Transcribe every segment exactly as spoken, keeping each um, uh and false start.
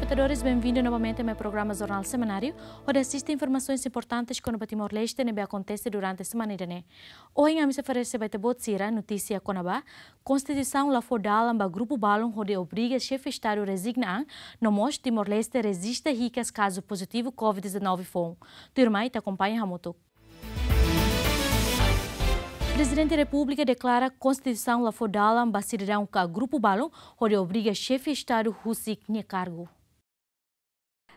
Telespetadores, benvindu novamente mai programa Jornál Semanáriu, hodi asiste informasoens importantes kona-ba Timor-Leste ne'ebé akontese durante semana ida-ne'e. Ohin ami sei oferese ba ita-boot sira notísia kona-ba konstituisaun la fó dalan ba grupu balun hodi obriga xefe Estadu rezigna an, no mós Timor-Leste rejista hikas kazu pozitivu covid dezanove foun. Tuirmai ita akompaña hamutuk. Prezidente Repúblika deklara konstituisaun la fó dalan ba sidadaun ka grupu balun hodi obriga xefe Estadu husik nia kargu.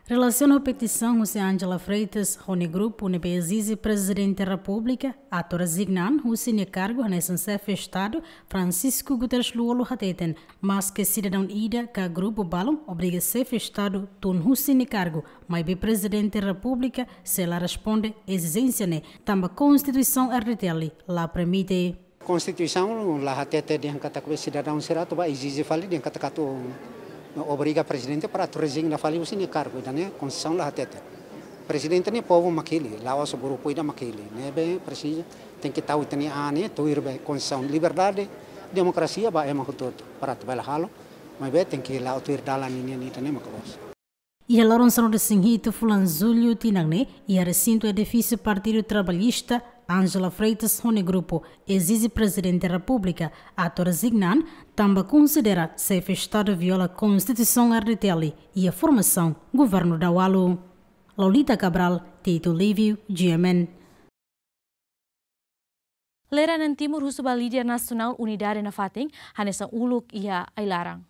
Relasiona ho petisaun husi Angela Freitas ho nia grupu ne'ebé ezije Prezidente Repúblika atu rezigna an husi nia kargu hanesan xefe Estadu, Francisco Guterres Lú-Olo hateten, maske sidadaun ida ka grupu balun obriga xefe Estadu tun husi nia kargu, maibé Prezidente Repúblika sei la responde ezijénsia ne'e, tanba Konstituisaun R D T L la permite. Konstituisaun la hatete dehan katak be sidadaun sira atu ba ezije fali dehan katak atu obriga prezidente para atu rezigna fali husi nia kargu, ida-ne'e Konstituisaun la hatete. Prezidente ne'e povu mak hili, la'ós grupu ida mak hili. Ne'ebé presiza tenke tau ita-nia an ne'e tuir be Konstituisaun, liberdade, demokrasia ba ema hotu-hotu para atu bele halo, maibé tenke la'o tuir dalan ninian, ida-ne'e mak loos. Iha loron sanulu-resin-hitu fulan Jullu tinan ne'e, iha resintu edifísiu Partidu Trabalhista, Angela Freitas ho nia grupu ezije Prezidente Repúblika atu rezigna an, tanba konsidera xefe Estadu viola Konstituisaun R D T L iha formasaun Governu Daualu. Lolita Cabral, Tito Livio, G M N. Lere Anan Timur husu ba líder nasionál unidade nafatin, hanesan uluk iha ai-laran.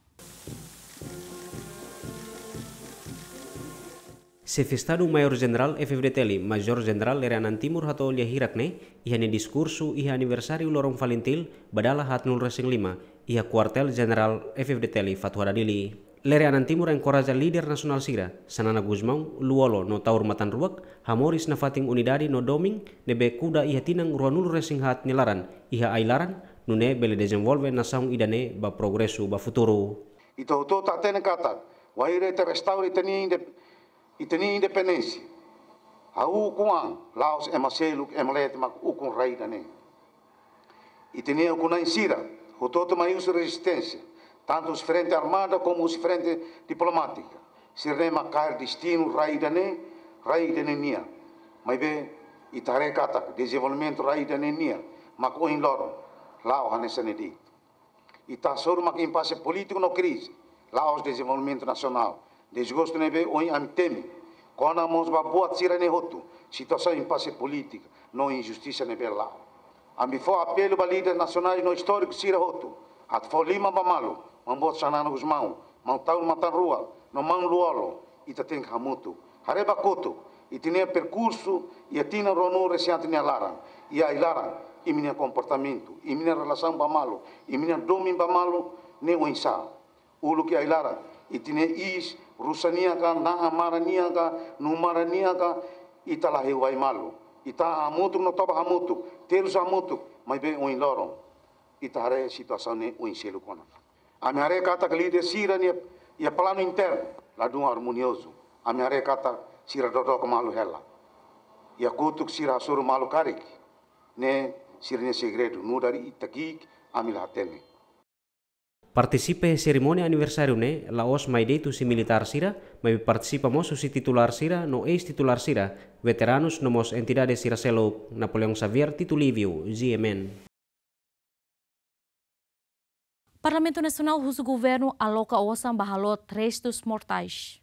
Xefe Estadu Maiór Jenerál F-FDTL, Majór Jenerál Lere Anan Timur hato'o lia hirak ne'e iha nia diskursu iha aniversáriu loron FALINTIL ba dala haatnulu-resin-lima, iha Kuartél Jenerál F-FDTL Fatuhada, Dili. Lere Anan Timur enkoraja líder nasionál sira, Xanana Gusmão, Lú-Olo no Taur Matan Ruak, hamoris nafatin unidade no domin ne'ebé kuda iha tinan ruanulu-resin-haat nia laran iha ai-laran, nune'e bele dezenvolve nasaun ida-ne'e ba progresu ba futuru. Ita hotu-hotu hatene katak, wainhira ita restaura ita-nia inde-, ita-nia independénsia, ha'u ukun an, la'ós ema seluk, ema leten mak ukun rai ida-ne'e. Ita-nia ukun-na'in sira hotu-hotu mai husi rezisténsia, tantu husi frente armada komu husi frente diplomátika. Sira-ne'e mak kaer destinu rai ida-ne'e, rai ida-ne'e nian. Maibé ita haree katak dezenvolvimentu rai ida-ne'e nian mak ohin loron la'o hanesan ne'e de'it. Ita hasoru mak impase polítiku no krize, la'ós dezenvolvimentu nasionál. Dezgostu ne'ebé ohin ami temi kona mós ba buat sira-ne'e hotu, situasaun impase polítika no injustisa ne'ebé la'o. Ami fó apelu ba líder nasionál no istóriku sira hotu atu fó liman ba malu, maun boot Xanana Gusmão, maun Taur Matan Ruak no maun Lú-Olo, ita tenke hamutuk. Haree ba kotuk, ita-nia perkursu iha tinan ruanulu-resin-haat nia laran, iha ai-laran, imi-nia komportamentu, imi-nia relasaun ba malu, imi-nia domin ba malu ne'e oinsá. Uluk iha ai-laran, ita-nia iis, rusa nian ka, na'an maran nian ka, nuu maran nian ka, ita la heu ai malu. Ita hamutuk no toba hamutuk, terus hamutuk, maibé ohin loron ita haree situasaun ne'e oin seluk ona. Ami haree katak líder sira-nia, iha planu internu, ladún armoniozu. Ami haree katak sira dodook malu hela. Iha kotuk sira hasoru malu karik. Ne'e sira-nia segredu, nu'udar ita ki'ik, ami la hatene. Partisipa iha serimónia aniversáriu ne'e la'ós mai de'it husi militár sira, maibé partisipa mós husi titulár sira no eis-titulár sira, veteranus no mós entidade sira seluk. Napoleão Xavier, Tito Livio, G M N. Parlamentu Nasionál husu governu aloka osan ba halot restus mortais.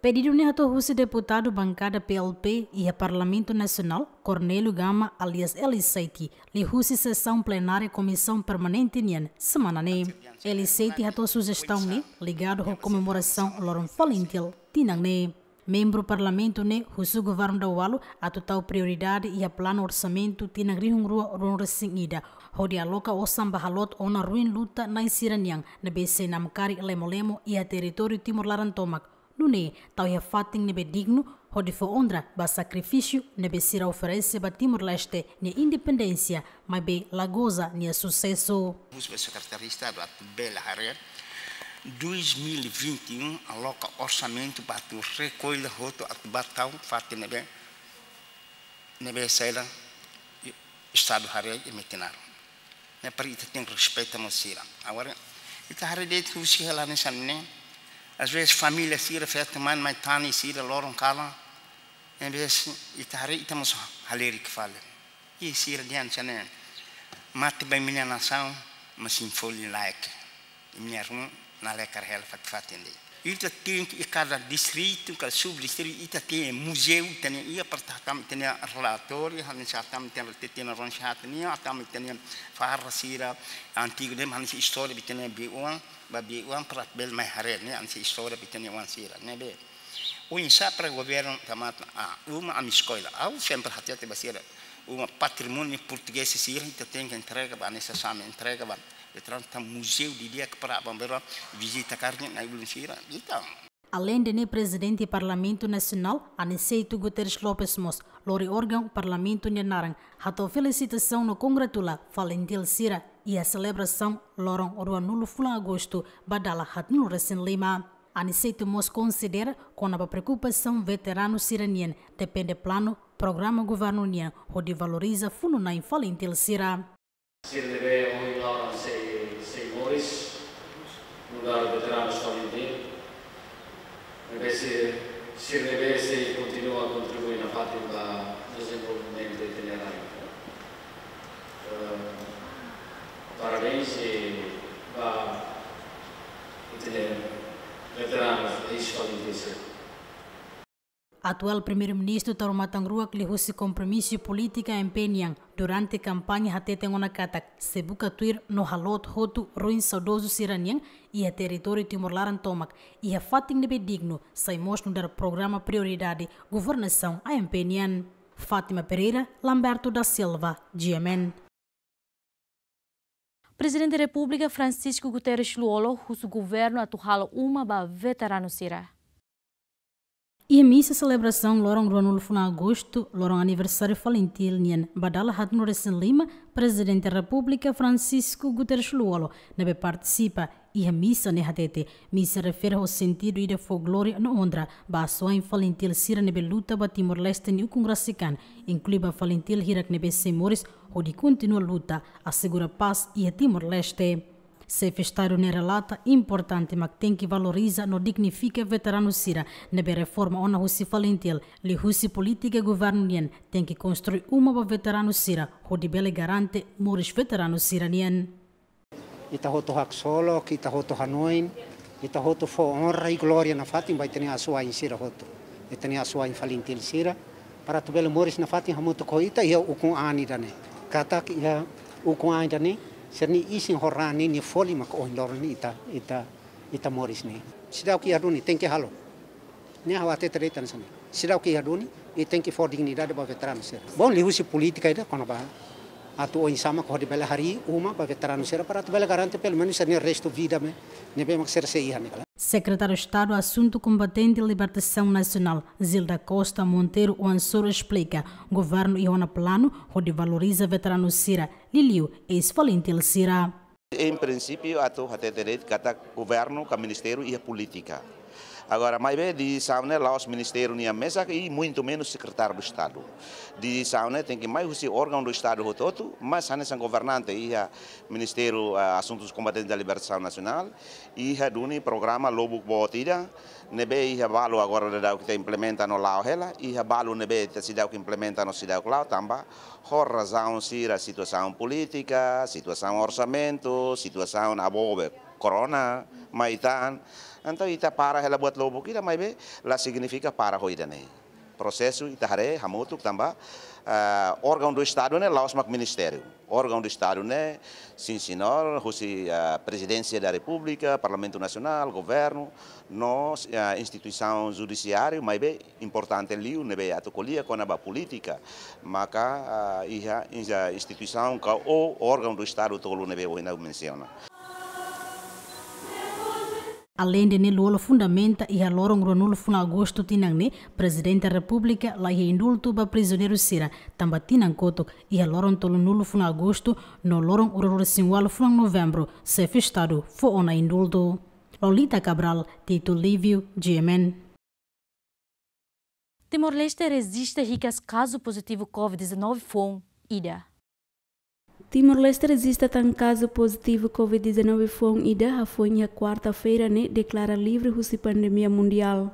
Pedidu ne'e hato'o husi deputadu bankada P L P iha Parlamentu Nasionál, Cornélio Gama alias Eli Seiti, liuhusi sesaun plenária Komisaun Permanente nian semana ne'e. Eli Seiti hato'o sujestaun ne'e ligadu ho komemorasaun loron FALINTIL tinan ne'e. Membru Parlamentu ne'e husu Governu Daualu atu tau prioridade iha planu orsamentu tinan rihun rua ruanulu-resin-ida, hodi aloka osan ba halot ona ruin luta na'in sira-nian ne'ebé sei namkari lemo-lemo iha territóriu Timor laran tomak, nune'e tau iha fatin ne'ebé dignu hodi fó onra ba sakrifísiu ne'ebé sira oferese ba Timor-Leste nia independénsia, maibé la goza nia susesu. Husu ba Sekretáriu Estadu atu bele haree dois mil e vinte e um aloka orsamentu ba atu rekolla hotu atu ba tau fatin ne'ebé, ne'ebé sei la Estadu haree i metin naran. Ne'e para ita tenke respeita mós sira. Agora, ita haree de'it husi hela hanesan ne'e, Às vezes família sira feto man mai tani sira loron kalan. Às vezes ita haree ita mós halerik fali. I sira dehan hanesan ne'e, mate ba imi-nia nasaun, mas imi folin laek. Imi-nia ruma na lekar hela fatin-fatin de'it. Ita tenke, i kada distritu, kada subdistritu, ita tenke muzeu, ita-nia iha para hatama ita-nia relatóriu, hanesan hatama ita-nia, ita-nia ronxat nian, hatama ita-nia farra sira antigu de'it, hanesan istória ita-nia beiuan, ba beiuan para bele mai haree ne'e, hanesan istória ita-nia oan sira, ne'ebé. Oinsá para governu tama, ah, uma ami eskola. Ha'u sempre hatete ba sira, uma patrimóniu portugés sira, ita tenke entrega ba, hanesan same entrega ba. Ita tenke muzeu didi'ak para bá bele vizita karik nai ulun sira. Ita. Aleinde ne'e, Prezidente Parlamentu Nasionál, Aniceto Guterres Lopes mós lori órgaun Parlamentu nia naran, hato'o felisitasaun no kongratula FALINTIL sira iha selebrasaun loron ruanulu fulan Agostu ba dala haatnulu-resin-lima. Aniceto mós konsidera kona-ba preokupasaun veteranu sira-nian, depende planu programa governu nian hodi valoriza funu-na'in FALINTIL sira. Sira ne'ebé ohin loron sei, sei moris nu'udar veteranus FALINTIL. Ne'ebé sira, sira ne'ebé sei kontinua kontribui nafatin ba dezenvolvimentu ita-nia rai. Eh, parabéns i ba ita-nia veteranus eis-FALINTIL sira. Atuál Primeiru-Ministru Taur Matan Ruak liuhusi kompromisu polítika M P nian durante kampaña hateten ona katak sei buka tuir no haloot hotu ruin saudozu sira-nian iha territóriu Timor laran tomak, iha fatin ne'ebé dignu, sai mós nu'udar programa prioridade governasaun A M P nian. Fátima Pereira, Lamberto da Silva, G M N. Prezidente Repúblika Francisco Guterres Lú-Olo husu governu atu halo uma ba veteranu sira. Iha misa selebrasaun loron ruanulu fulan Agostu, loron aniversáriu FALINTIL nian ba dala haatnulu-resin-lima, Prezidente Repúblika Francisco Guterres Lú-Olo ne'ebé partisipa iha misa ne'e hatete, misa refere ho sentidu ida fó glória no onra ba asuwa'in FALINTIL sira ne'ebé luta ba Timor-Leste nia ukun rasik an, inklui ba FALINTIL hirak ne'ebé sei moris hodi kontinua luta asegura pás iha Timor-Leste. Xefe Estadu ne'e relata importante mak tenke valoriza no dignifika veteranu sira ne'ebé reforma ona husi FALINTIL, liuhusi polítika governu nian tenke konstrui uma ba veteranu sira hodi bele garante moris veteranu sira-nian. Ita hotu haksolok, ita hotu hanoin, ita hotu fó onra i glória nafatin ba ita-nia asuwa'in sira hotu. Ita-nia asuwa'in FALINTIL sira, para atu bele moris nafatin hamutuk ho ita iha ukun-an ida-ne'e. Katak iha ukun-an ida-ne'e, sira-nia isin ho raan ninia folin mak ohin loron ne'e ita, ita, ita moris ne'e. Seidauk iha duni, tenke halo. Ne'e ha'u hatete de'it hanesan ne'e. Seidauk iha duni, i tenke fó dignidade ba veteranu sira. Bom, liuhusi polítika ida kona-ba atu oinsá mak hodi bele harii uma ba veteranu sira para atu bele garante pelumenus sira-nia restu vida ne'e, ne'ebé mak sira sei iha ne'e kala. Sekretáriu Estadu Asuntu Kombatente Libertasaun Nasionál, Zilda Costa Monteiro Oan-Soru esplika, governu iha ona planu hodi valoriza veteranu sira, liuliu eis-FALINTIL sira. Em princípio, atu hatete de'it katak governu ka ministériu iha polítika. Agora, maibé desizaun ne'e la'ós ministériu nian mesak i muito menos sekretáriu do Estadu. Desizaun ne'e tenke mai husi órgaun do Estadu hotu-hotu, mas hanesan governante iha Ministériu, ah, Asuntus Kombatentes da Libertasaun Nasionál, iha duni programa lubuk boot ida, ne'ebé iha balu agora daudaun ita implementa no la'o hela, iha balu ne'ebé ita seidauk implementa no seidauk la'o tanba ho razaun sira situasaun polítika, situasaun orsamentu, situasaun agora korona, mai tan. Entaun ita para hela buat lubuk ida maibé la signifika para ho ida-ne'e. Prosesu ita haree hamutuk tanba, ah, órgaun do Estadu ne'e la'ós mak ministériu. Órgaun do Estadu ne'e, sim senhor, husi, ah, Prezidénsia da Repúblika, Parlamentu Nasionál, governu, no, ah, instituisaun judisiáriu, maibé importante liu ne'ebé atu ko'alia kona-ba polítika, maka, ah, iha, iha instituisaun ka ou órgaun do Estadu tolu ne'ebé ohin ha'u mensiona. Aleinde ne'e, Lú-Olo fundamenta iha loron ruanulu fulan Agostu tinan ne'e, Prezidente Repúblika la iha indultu ba prizioneiru sira, tanba tinan kotuk iha loron tolunulu fulan Agostu no loron ruanulu-resin-ualu fulan Novembru, Xefe Estadu fó ona indultu. Lolita Cabral, Tito Lívio, G M N. Timor-Leste rejista hikas kazu pozitivu COVID dezanove foun ida. Timor-Leste rejista tan kazu pozitivu covid dezanove foun ida hafoin iha kuarta-feira ne'e deklara livre husi pandemia mundiál.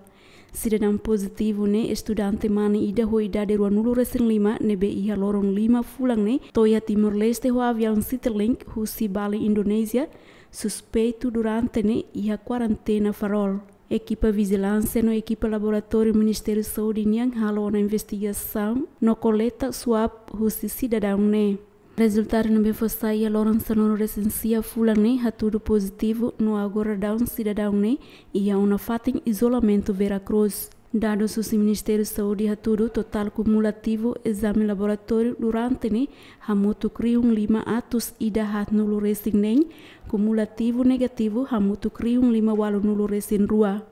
Sidadaun pozitivu ne'e estudante mane ida ho idade ruanulu resin lima ne'ebé iha loron lima fulan ne'e to'o iha Timor-Leste ho aviaun Citilink husi Bali, Indonézia, suspeitu durante ne'e iha kuarentena Farol. Ekipa vijilánsia no ekipa laboratóriu Ministériu Saúde nian halo ona investigasaun no koleta swab husi sidadaun ne'e. Rezultadu ne'ebé fó sai iha loron sanulu resin sia fulan ne'e hatudu pozitivu no agora daudaun sidadaun ne'e iha ona fatin izolamentu Vera Cruz. Dadus husi Ministériu Saúde hatudu totál kumulativu ezame laboratóriu durante ne'e hamutuk rihun lima atus ida haatnulu resin neen, kumulativu negativu hamutuk rihun lima ualunulu resin rua.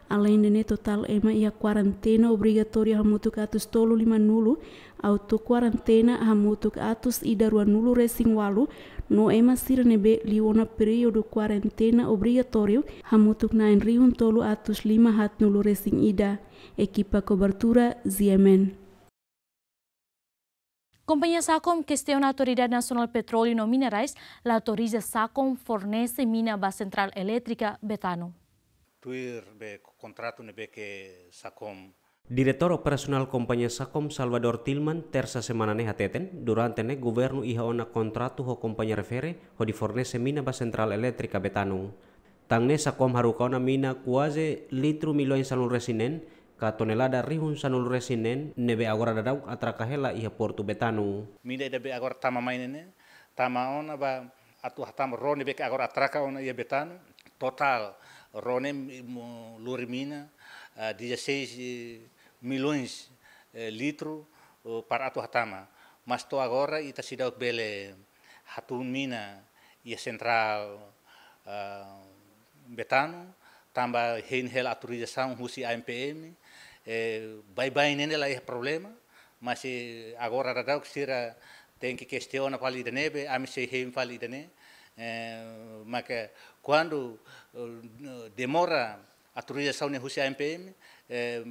Aleinde ne'e totál ema iha kuarentena obrigatóriu hamutuk atus tolu limanulu, auto kuarentena hamutuk atus ida ruanulu resin ualu, no ema sira ne'ebé liu ona períodu kuarentena obrigatóriu hamutuk na'in rihun tolu atus lima haatnulu resin ida. Ekipa kobertura Z M N. Kompañia Sacom kestiona Autoridade Nasionál Petróleu no Minerais la autoriza Sacom fornese mina ba Sentrál Elétrika Betano. Tuir be kontratu ne'ebé ke Sacom. Diretór Operasionál Kompañia Sacom, Salvador Tilman, tersa semana ne'e hateten, durante ne'e governu iha ona kontratu ho kompañia refere hodi fornese mina ba Sentrál Elétrika Betano. Tan ne'e Sacom haruka ona mina kuaze litru milhões sanulu resin neen, ka tonelada rihun sanulu resin neen, ne'ebé agora daudaun atraka hela iha portu Betano. Mina ida be agora tama mai ne'e, tama ona ba atu hatama ró ne'ebé ke agora atraka ona iha Betano, totál ró ne'e mo lori mina, ah, dezasseis milhões, eh, litru, oh, para atu hatama. Mas to'o agora ita seidauk bele hatún mina iha sentrál, ah, Betano, tanba hein hela autorizasaun husi A N P M, eh, baibain ne'e la iha problema, mas, eh, agora daudaun sira tenke kestiona fali ida-ne'e be, ami sei hein fali ida-ne'e, eh, maka kuandu, eh, demora autorizasaun ne'e husi A N P M, eh,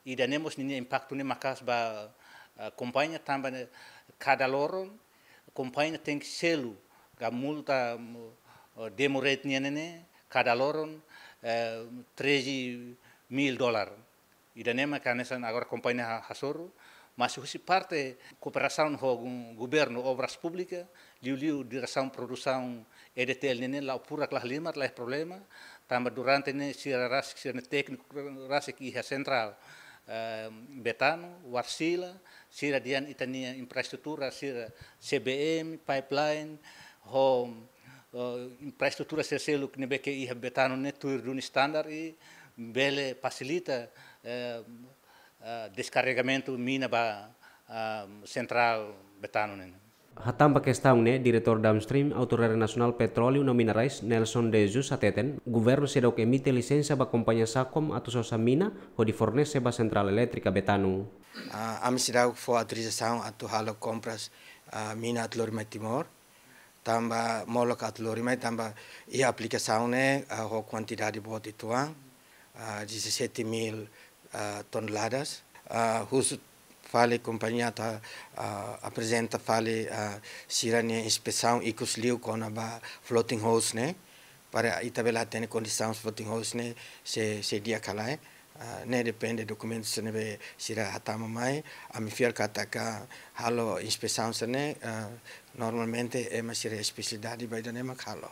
ida-ne'e mós ninia impaktu ne'e maka'as ba, eh, kompañia tanba ne'e kada loron kompañia tenke selu ka multa, mm, eh, demo rate nian ne'e kada loron, eh, treze mil dólar. Ida-ne'e maka hanesan agora kompañia ha-, hasoru, mas husi parte kooperasaun ho gu-, governu, Obras Públikas, liuliu diresaun produsaun E D T L ne'e la furak, la halimar, la iha problema, tanba durante ne'e sira rasik, sira-nia tékniku rasik iha sentrál, eh, Betano, Warsila, sira dehan ita-nia infraestrutura, sira C B M, pipeline, ho, eh, infraestrutura sira seluk ne'ebé ke iha Betano ne'e tuir duni standar i bele fasilita, eh, eh, deskarregamentu mina ba, ah, sentrál Betano ne'e. Hatán ba kestaun ne'e, Diretór Downstream Autoridade Nasionál Petróleu no Minerais, Nelson de Jesus, hateten, governu seidauk emite lisensa ba kompañia Sacom atu sosa mina hodi fornese ba Sentrál Elétrika Betano. Ah, ami seidauk fó autorizasaun atu halo kompras, ah, mina atu lori mai Timor. Tanba molok atu lori mai, tanba iha aplikasaun ne'e, ah, ho kuantidade boot uitoan, ah, dezassete mil, ah, toneladas. Ah, husu fali kompañia atu, ah, aprezenta fali, ah, sira-nia inspesaun ikus liu kona-ba floating holes ne'e. Para ita bele hatene kondisaun floating holes ne'e se, se di'ak ka lae. Ah, ne'e depende dokumentu sira ne'ebé sira hatama mai, ami fiar katak halo inspesaun sira-ne'e, ah, normalmente ema sira espesialidade ba ida-ne'e mak halo.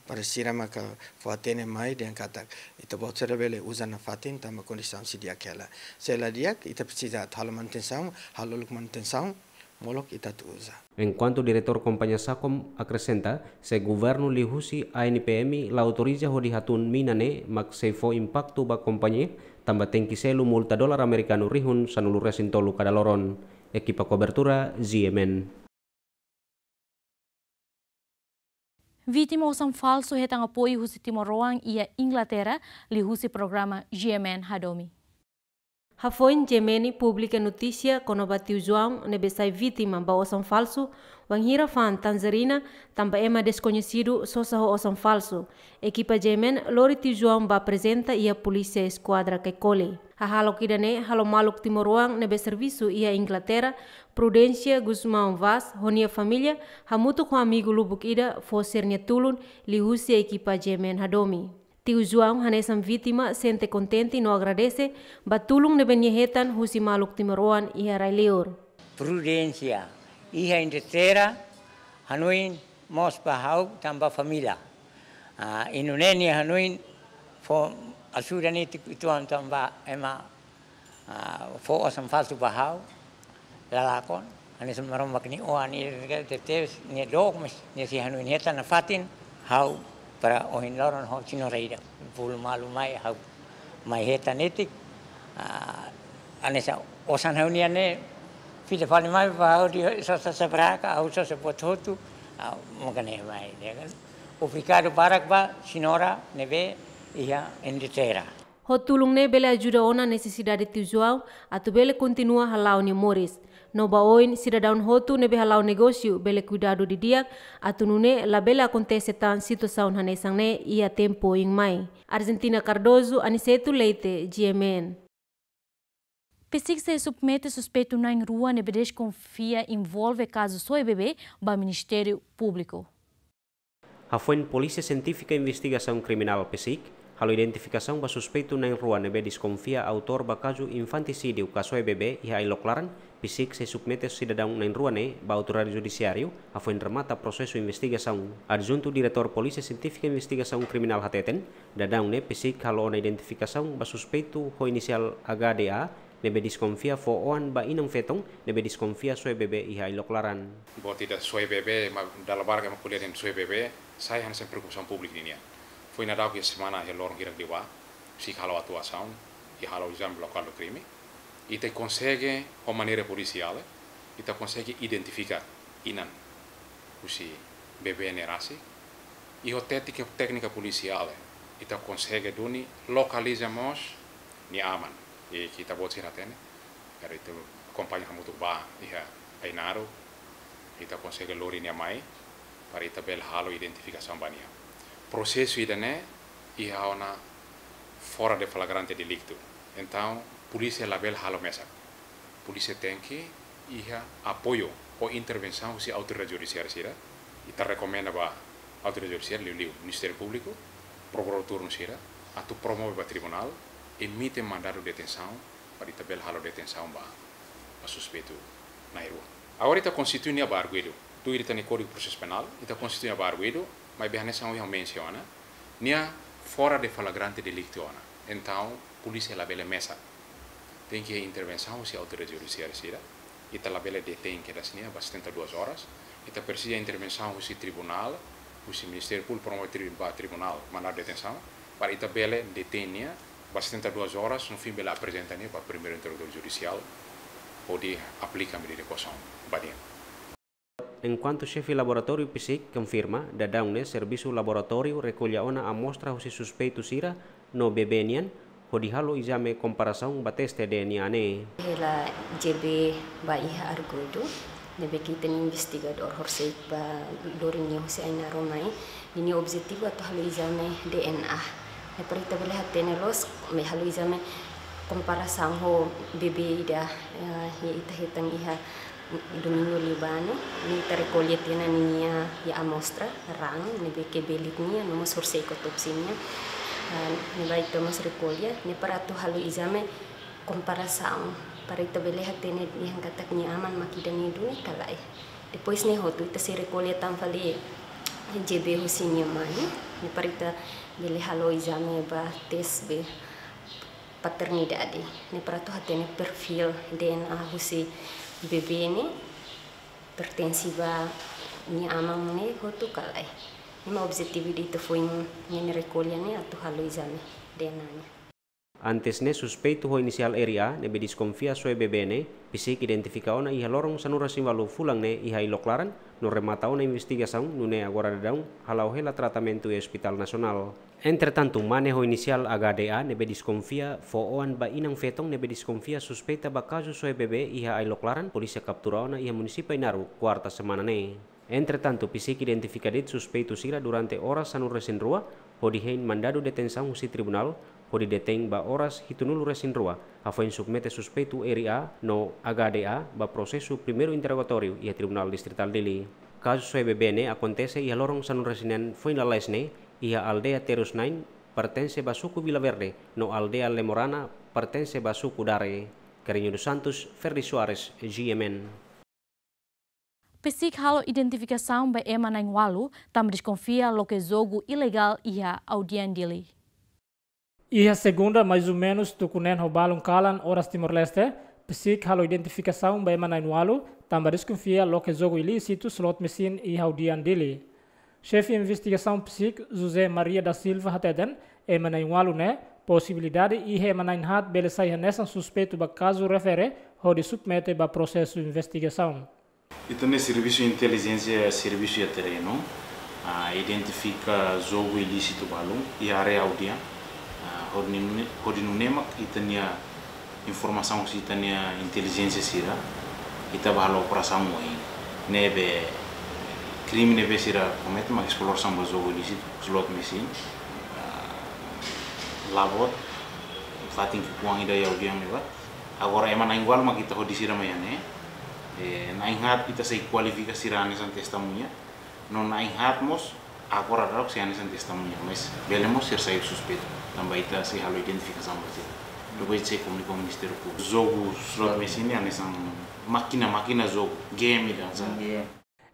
Para sira maka fó hatene mai dehan katak ita-boot sira bele uza nafatin tanba kondisaun sei di'ak hela. Se la di'ak, ita presiza halo manutensaun, halo uluk manutensaun, molok ita atu uza. Enkuantu Diretór Kompañia Sacom akresenta, se governu liuhusi A N P M la autoriza hodi hatún mina ne'e mak sei fó impaktu ba kompañia, tanba tenke selu multa dolar amerikanu rihun sanulu resin tolu kada loron. Ekipa kobertura, Z M N. Vítima osan falsu hetan apoiu husi timoroan iha Inglaterra, liuhusi programa G M N Hadomi. Hafoin G M N publika notísia kona-ba tiu João ne'ebé sai vítima ba osan falsu, Wainhira fa'an tanjerina, tanba ema deskoñesidu sosa ho osan falsu, ekipa G M N lori tiu João ba aprezenta iha polísia eskuadra Caicoli. Hahalok ida-ne'e halo maluk timoroan ne'ebé servisu iha Inglaterra, Prudencia Gusmão Vaz, ho nia família, hamutuk ho amigu lubuk ida, fó sira-nia tulun liuhusi ekipa G M N hadomi. Tiu João hanesan vítima sente kontente no agradese ba tulun ne'ebé nia hetan husi maluk timoroan iha rai-liur. Prudencia, iha Inglaterra, hanoin mós ba ha'u tanba família. Ah, i nune'e nia hanoin fó ajuda netik uitoan tanba ema, ah, fó osan falsu ba ha'u, la lakon, hanesan Maromak nia oan, nia tebes, nia dook, mas nia sei hanoin hetan nafatin, ha'u para ohin loron ho senhora ida, bolu malu mai, ha'u mai hetan netik, ah, hanesan osan ha'u-nian ne'e, fila fali mai ba ha'u dehan sosa sabraka, ha'u sosa buat hotu, ah, mak ne'e mai, ya kan? Obrigadu barak ba senhora ne'ebé iha Inglaterra. Ho tulun ne'e bele ajuda ona nesesidade tiu João, atu bele kontinua hala'o nia moris. No ba oin sidadaun hotu ne'ebé hala'o negósiu bele kuidadu didi'ak, atu nune'e labele akontese tan situasaun hanesan ne'e iha tempu oin mai. Argentina Cardoso, Aniceto Leite, G M N. PCIC sei submete suspeitu na'in rua ne'ebé deskonfia envolve kazu soe bebé ba Ministériu Públiku. Hafoin Polísia Sientífika Investigasaun Kriminál, PSIK, halo identifikasaun ba suspeitu na'in rua ne'ebé deskonfia autór ba kazu infantisídiu ka soe bebé iha ai-lok laran, PSIK sei submete sidadaun na'in rua ne'e ba autoridade judisiáriu, hafoin remata prosesu investigasaun. Adjuntu Diretór Polísia Sientífika Investigasaun Kriminál hateten, daudaun ne'e PSIK halo ona identifikasaun ba suspeitu ho inisiál H D A, ne'ebé deskonfia fó oan ba inan-feton ne'ebé deskonfia soe bebé iha ai-lok laran. Buat ida soe bebé, ema dala barak ema ko'alia dehan soe bebé, sai hanesan preokupasaun públiku ninian. Foin daudauk iha semana iha loron hirak liubá, PSIK halo atuasaun, i halo ezame lokál do krime. Ita konsege, ho maneira polisiál, ita konsege identifika inan husi bebé ne'e rasik. I ho téknika, téknika polisiál, ita konsege duni lokaliza mós nia aman. I ita-boot sira hatene, karik ita akompaña hamutuk ba iha Ainaro, ita konsege lori nia mai, para ita bele halo identifikasaun ba nia. Prosesu ida-ne'e iha ona fora de flagrante delicto. Entaun, polísia labele halo mesak. Polísia tenke iha apoiu ho intervensaun husi autoridade judisiária sira. Ita rekomenda ba autoridade judisiária, liuliu Ministériu Públiku, prokuradór turnu sira, atu promove ba tribunál, emite mandadu detensaun, para ita bele halo detensaun ba, ba suspeitu na'in rua. Agora ita konstitui nia ba arguidu. Tuir ita-nia Kódigu Prosesu Penál, ita konstitui nia ba arguidu, maibé hanesan ohin ha'u mensiona, nia fora de flagrante delicto ona. Entaun, polísia labele mesak. Tenke intervensaun husi autoridade judisiária sira. Ita labele detein kedas nia ba setenta e duas horas. Ita presiza intervensaun husi tribunál, husi Ministériu Públiku promove tri-, ba tribunál, mandadu detensaun, para ita bele detein nia ba setenta e duas horas, no fim bele aprezenta nia ba primeiru interlogadór judisiál, hodi aplika medida koasaun ba nia. Enkuantu xefe laboratóriu PSIK konfirma, daudaun ne'e servisu laboratóriu rekolla ona amostra husi suspeitu sira no bebé nian, hodi halo ezame komparasaun ba teste D N A ne'e. Hela J B ba iha arguidu, ne'ebé ke ita-nia investigadór horisehik ba lori nia husi Ainaro mai, ninia objetivu atu halo ezame D N A. Ne'e para ita bele hatene loos, mai halo ezame komparasaun ho bebé ida, eh, ne'ebé ita hetan iha domingu liubá ne'e, ne'e ita rekolla tiha ona ninia iha amostra, raan, ne'ebé ke belit nian, no mós horisehik otópsia nian. Ah, ne'ebá ita mós rekolla, ne'e para atu halo ezame komparasaun, para ita bele hatene dehan katak nia aman mak ida-ne'e duni ka lae. Depois ne'e hotu ita sei rekolla tan fali J B husi nia mane, ne'e para ita bele halo ezame ba tes be paternidade. Ne'e para atu hatene perfíl D N A husi bebé ne'e pertense ba nia aman ne'e hotu ka lae. Ne'e mak objetivu ida ita foin nian rekolla ne'e atu halo ezame D N A ne'e. Antes ne'e, suspeitu ho inisiál R A ne'ebé deskonfia soe bebé ne'e, psík identifika ona iha loron sanulu-resin-ualu fulan ne'e iha ai-loklaran, no remata ona investigasaun, nune'e agora daudaun hala'o hela tratamentu iha Ospitál Nasionál. Entretantu, mane ho inisiál H D A ne'ebé deskonfia fó-oan ba inan-feton ne'ebé deskonfia suspeita ba kazu soe bebé iha ai-loklaran, polísia kaptura ona iha munisípiu Ainaro, kuarta semana ne'e. Entretantu, psík identifika de'it suspeitu sira durante oras sanulu-resin-rua, hodi hein mandadu detensaun husi tribunál, hodi detein ba oras hitunulu-resin-rua, hafoin submete suspeitu R A no H D A ba prosesu primeiru interrogatóriu iha Tribunál Distritál Dili. Kazu soe bebé ne'e akontese iha loron sanulu-resin-neen foin lalais ne'e, iha aldeia Terus Nain, pertense ba suku Vila Verde, no aldeia Lemorana, pertense ba suku Dare. Carrinho dos Santos, Ferdi Soares, G M N. Psík halo identifikasaun ba ema na'in-ualu, tanba deskonfia loke jogu ilegál iha aldeia Dili. Iha segunda, mais ou menus tuku neen ho balun kalan oras Timor-Leste, psík halo identifikasaun ba ema na'in-ualu, tanba deskonfia loke jogu ilísitu slot machine iha aldeia Dili. Xefe investigasaun psík, José Maria da Silva hateten, ema na'in-ualu ne'e, posibilidade iha ema na'in-haat bele sai hanesan suspeitu ba kazu refere, hodi submete ba prosesu investigasaun. Ita-nia servisu intelijénsia servisu iha terrenu, ah, identifika jogu ilísitu balun iha área aldeia, ah, hodi nune-, hodi nune'e mak ita-nia informasaun husi ita-nia intelijénsia sira, ita bá halo operasaun ohin. Ne'ebé krime ne'ebé sira komete mak esplorsaun ba jogu ilísitu, slot machine, ah, labot, fatin ki'ikoan ida iha aldeia ne'ebá. Agora ema na'in-ualu mak ita hodi sira mai iha ne'e. Eh, na'in-haat ita sei kualifika sira hanesan testemuña. No na'in-haat mós, agora daudaun sei hanesan testemuña, mas bele mós sira sai suspeitu. Tanba ita sei halo identifikasaun ba sira. Depois sei komunika ho Ministériu Públiku. Jogu slot machine hanesan mákina, mákina jogu, game ida hanesan.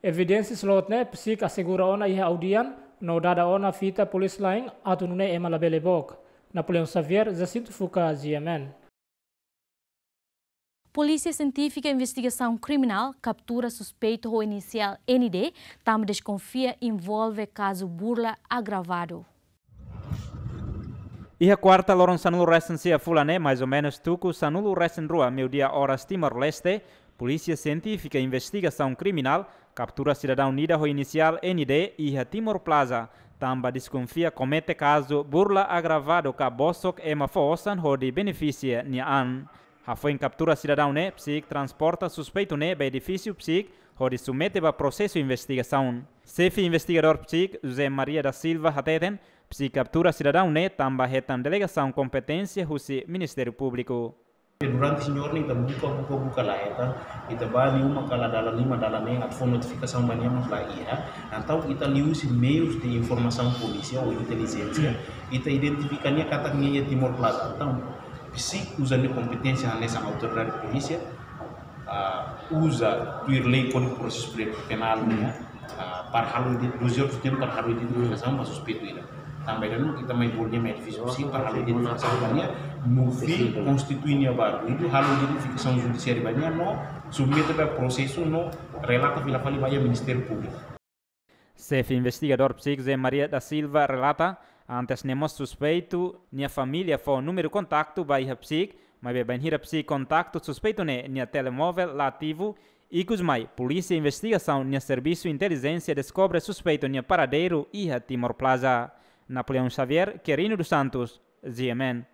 Evidénsia slot ne'e, psík asegura ona iha aldeia, no dada ona fita polísia la'en, atu nune'e ema labele book. Napoleão Xavier, Jacinto Fuca, G M N. Polísia Sientífika Investigasaun Kriminál kaptura suspeitu ho inisiál N D, tanba deskonfia envolve kazu burla agravadu. Iha kuarta, loron sanulu-resin-sia fulan ne'e, mais ou menus tuku sanulu-resin-rua, meiudia oras Timor-Leste, Polísia Sientífika Investigasaun Kriminál kaptura sidadaun ida ho inisiál N D iha Timor Plaza, tanba deskonfia komete kazu burla agravadu ka bosok ema fó osan hodi benefisia nia an. Hafoin kaptura sidadaun ne'e, psík transporta suspeitu ne'e ba edifísiu psík hodi submete ba prosesu investigasaun. Xefe investigadór psík, José Maria da Silva hateten, psík kaptura sidadaun ne'e tanba hetan delegasaun kompeténsia husi Ministériu Públiku. Durante señór ne'e ita buka, buka, buka la hetan, ita bá nia uma kala dalan lima, dalan neen, atu fó notifikasaun ba nia mós la iha. Entaun ita liuhusi meius de informasaun polísia ou intelijénsia, ita identifika nia katak nia iha Timor Plaza. Entaun, psík uza nia kompeténsia hanesan autoridade polísia, ah, uza tuir lei Kódigu Prosesu Penál nian, ah, para halo ide-, duzentos e oitenta para halo identifikasaun ba suspeitu ida. Tanba ida-ne'e ita mai bolu nia mai edifísiu psík para halo identifikasaun ba nia, no fim konstitui nia ba ruídu, halo identifikasaun judisiária ba nia, no submete ba prosesu, no relata fila fali ba iha Ministériu Públiku. Xefe investigadór psík José Maria da Silva relata, antes ne'e mós suspeitu nia família fó númeru kontaktu ba iha psík, maibé bainhira psík kontaktu suspeitu ne'e nia telemóvel la ativu, ikus mai Polísia Investigasaun nia servisu intelijénsia deskobre suspeitu nia paradeiru iha Timor Plaza. Napoleão Xavier, Querino dos Santos, G M N.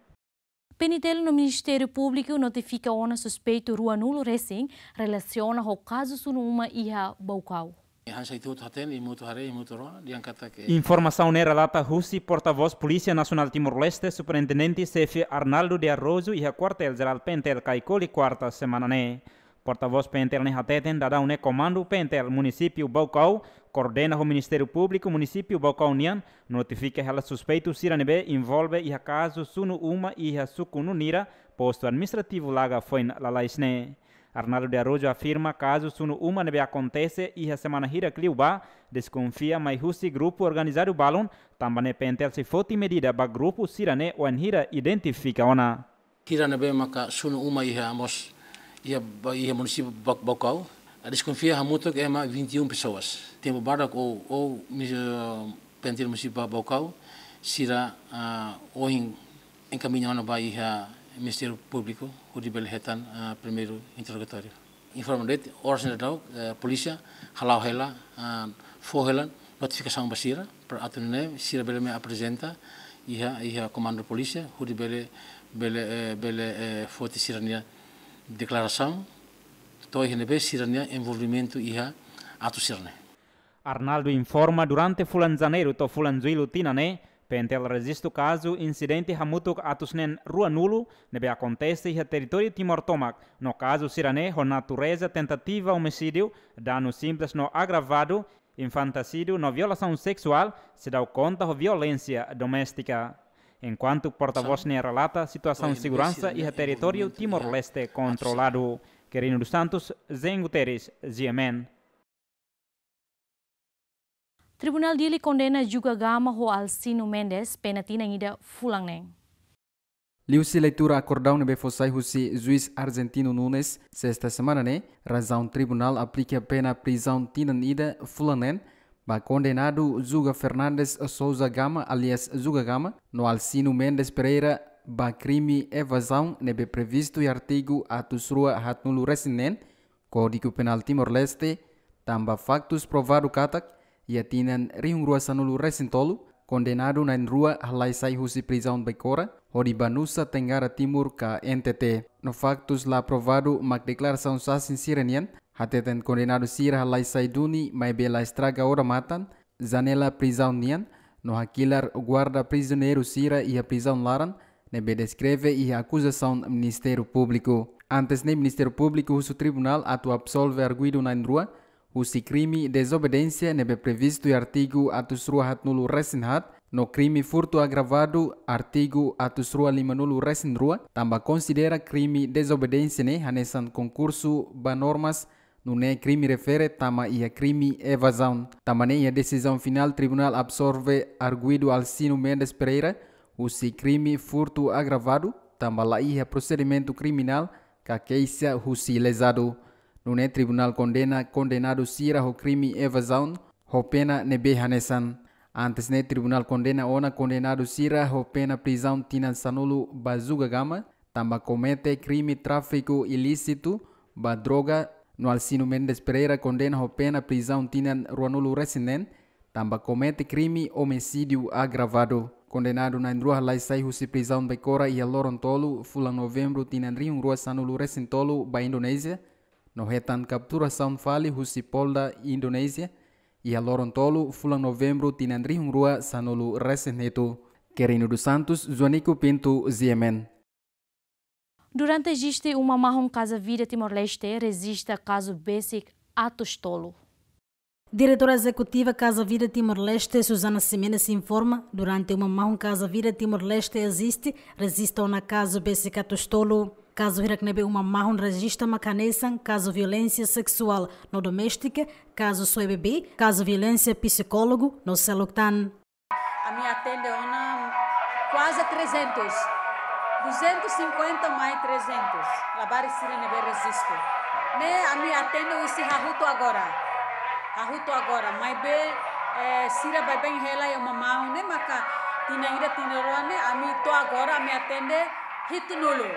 P N T L no Ministériu Públiku notifika ona suspeitu ruanulu-resin relasiona ho kazu sunu uma iha Baucau. Hanesan ita hotu hatene, ita hotu haree, ita hotu rona, dehan katak. Informasaun ne'e relata husi portavós Polísia Nasionál Timor-Leste, Superintendente Xefe Arnaldo de Araújo, iha Kuartél Jerál P N T L Caicoli, kuarta semana ne'e. Portavós P N T L ne'e hateten, daudaun ne'e Komandu P N T L Munisípiu Baucau koordena ho Ministériu Públiku Munisípiu Baucau nian, notifika hela suspeitu sira ne'ebé envolve iha kazu sunu uma iha suku Nunira, Postu Administrativu Laga, foin lalais ne'e. Arnaldo de Araújo afirma kazu sunu uma ne'ebé akontese iha semana hirak liubá, deskonfia mai husi grupu organizadu balun, tanba ne'e P N T L sei foti medida ba grupu sira-ne'e wainhira identifika ona. Sira ne'ebé maka sunu uma iha mós, iha ba-, iha munisípiu Ba-, Baucau, ah, deskonfia hamutuk ema vinte e um pessoas. Tempu badak ou, ou, mis-, eh, P N T L munisípiu Ba-, Baucau, sira, ah, ohin Enkamiña ona ba iha Ministériu Públiku, hodi bele hetan, ah, primeiru interrogatóriu. Informa de'it, oras ne'e daudaun, eh, polísia hala'o hela, ah, fó hela notifikasaun ba sira, para atu nune'e sira bele mai aprezenta iha, iha komandu polísia, hodi bele, bele, eh, bele, eh, foti sira-nia deklarasaun, to'o iha ne'ebé sira-nia envolvimentu iha atu sira-ne'e. Arnaldo informa, durante fulan Janeiru to'o fulan Jullu tinan ne'e, P N T L rejistu kazu insidente hamutuk atus neen ruanulu ne'ebé akontese iha territóriu Timor tomak, no kazu sira-ne'e ho natureza tentativa omisídiu, danu simples no agravadu, infantisídiu no violasaun seksuál, seidauk konta ho violénsia doméstika. Enkuantu portavós ne'e relata, situasaun seguransa iha territóriu Timor-Leste kontroladu. Quirino dos Santos, Zen Guterres, G M N. Tribunál Dili kondena Juga Gama ho Alcino Mendes pena tinan ida fulan neen. Liuhusi leitura akordaun ne'ebé fó sai husi juís Argentino Nunes, sesta semana ne'e, razaun tribunál aplika pena prizaun tinan ida fulan neen ba kondenadu Juga Fernandes Sousa Gama, alias Juga Gama, no Alcino Mendes Pereira ba krime evazaun ne'ebé previstu iha artigu atus rua haatnulu resin neen, Kódigu Penál Timor-Leste, tanba faktus provadu katak, iha tinan rihun rua sanulu resin tolu, kondenadu na'in rua halai sai husi prizaun Baikora, hodi ba Nusa Tenggara Timur ka N T T. No faktus la provadu mak deklarasaun sasin sira-nian, hateten kondenadu sira halai sai duni maibé la estraga odamatan, janela prizaun nian, no hakilar guarda prizioneiru sira iha prizaun laran, ne'ebé deskreve iha akuzasaun Ministériu Públiku. Antes ne'e Ministériu Públiku husu tribunál atu absolve arguidu na'in rua, husi krime dezobediénsia ne'ebé previstu iha artigu atus rua haatnulu resin haat, no krime furtu agravadu artigu atus rua limanulu resin rua, tanba konsidera krime dezobediénsia ne'e hanesan konkursu ba normas, nune'e krime refere tama iha krime evazaun. Tanba ne'e iha desizaun finál tribunál absolve arguidu Alcino Mendes Pereira husi krime furtu agravadu, tanba la iha prosedimentu kriminál ka keixa husi lezadu. Nune'e tribunál kondena kondenadu sira ho krime evazaun ho pena ne'ebé hanesan. Antes ne'e tribunál kondena ona kondenadu sira ho pena prizaun tinan sanulu ba Juga Gama, tanba komete krime tráfiku ilísitu ba droga, no Alcino Mendes Pereira kondena ho pena prizaun tinan ruanulu resin neen, tanba komete krime omisídiu agravadu. Kondenadu na'in rua halai sai husi prizaun Baikora iha loron tolu fulan Novembru tinan rihun rua sanulu resin tolu ba Indonézia, no hetan kapturasaun fali husi Polda Indonézia, iha loron tolu fulan Novembru tinan rihun rua sanulu resin hitu. Quirino dos Santos, Joanico Pinto, G M N. Durante jeste uma mahon Casa Vida Timor-Leste rejista kazu besik atus tolu. Diretora Ezekutiva Casa Vida Timor-Leste, Susana Ximenes, informa, durante uma mahon Casa Vida Timor-Leste jeste, rejista ona kazu besik atus tolu. Kazu hirak ne'ebé uma mahon rejista mak hanesan kazu violénsia seksuál no doméstika, kazu soe bebé, kazu violénsia psikólogu no seluk tan. Ami atende ona kuaze trezentus. Duzentus e cinquenta mais trezentus. Labarik sira ne'ebé rejistu. Ne'e ami atende husi hahú to'o agora. Hahú to'o agora. Maibé, eh, sira baibain hela iha uma mahon ne'e maka tinan ida tinan rua ne'e ami to'o agora ami atende hitunulu.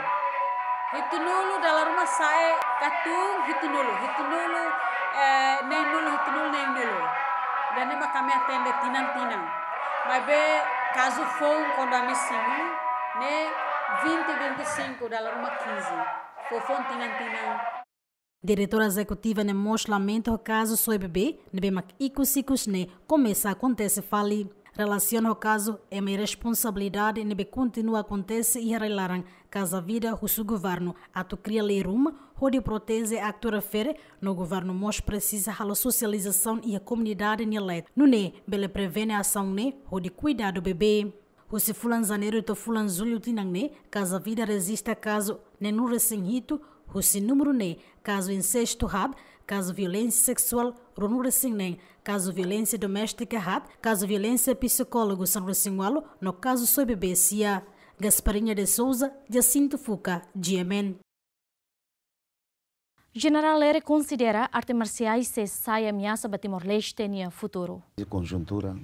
Hitunulu dala ruma sa'e katun hitunulu. Hitunulu, eh, neenulu, hitunulu neenulu. Ida-ne'e mak ami atende tinan-tinan. Maibé kazu foun kuandu ami simu ne'e vinte, vinte e cinco, dala ruma quinze. Foufoun tinan-tinan. Diretora Ezekutiva ne'e mós lamenta ho kazu soe bebé, ne'ebé mak ikus-ikus ne'e komesa akontese fali. Relasiona ho kazu, ema iha responsabilidade ne'ebé kontinua akontese iha rai-laran Casa Vida husu governu atu kria lei ruma hodi proteje aktu refere, no governu mós presiza halo sosializasaun iha komunidade nia leet, nune'e bele prevene asaun ne'e hodi kuidadu bebé. Husi fulan Janeiru to'o fulan Jullu tinan ne'e, Casa Vida rejista kazu neenulu resin hitu, husi númeru ne'e, kazu insestu haat, kazu violénsia seksuál ruanulu resin neen, kazu violénsia doméstika haat, kazu violénsia psikólogu sanulu resin ualu, no kazu soe bebé sia. Gasparinha de Souza, Jacinto Fuca, G M N. Jenerál Lere konsidera arte marsiais sei sai ameasa ba Timor-Leste nia futuru. Konjuntura,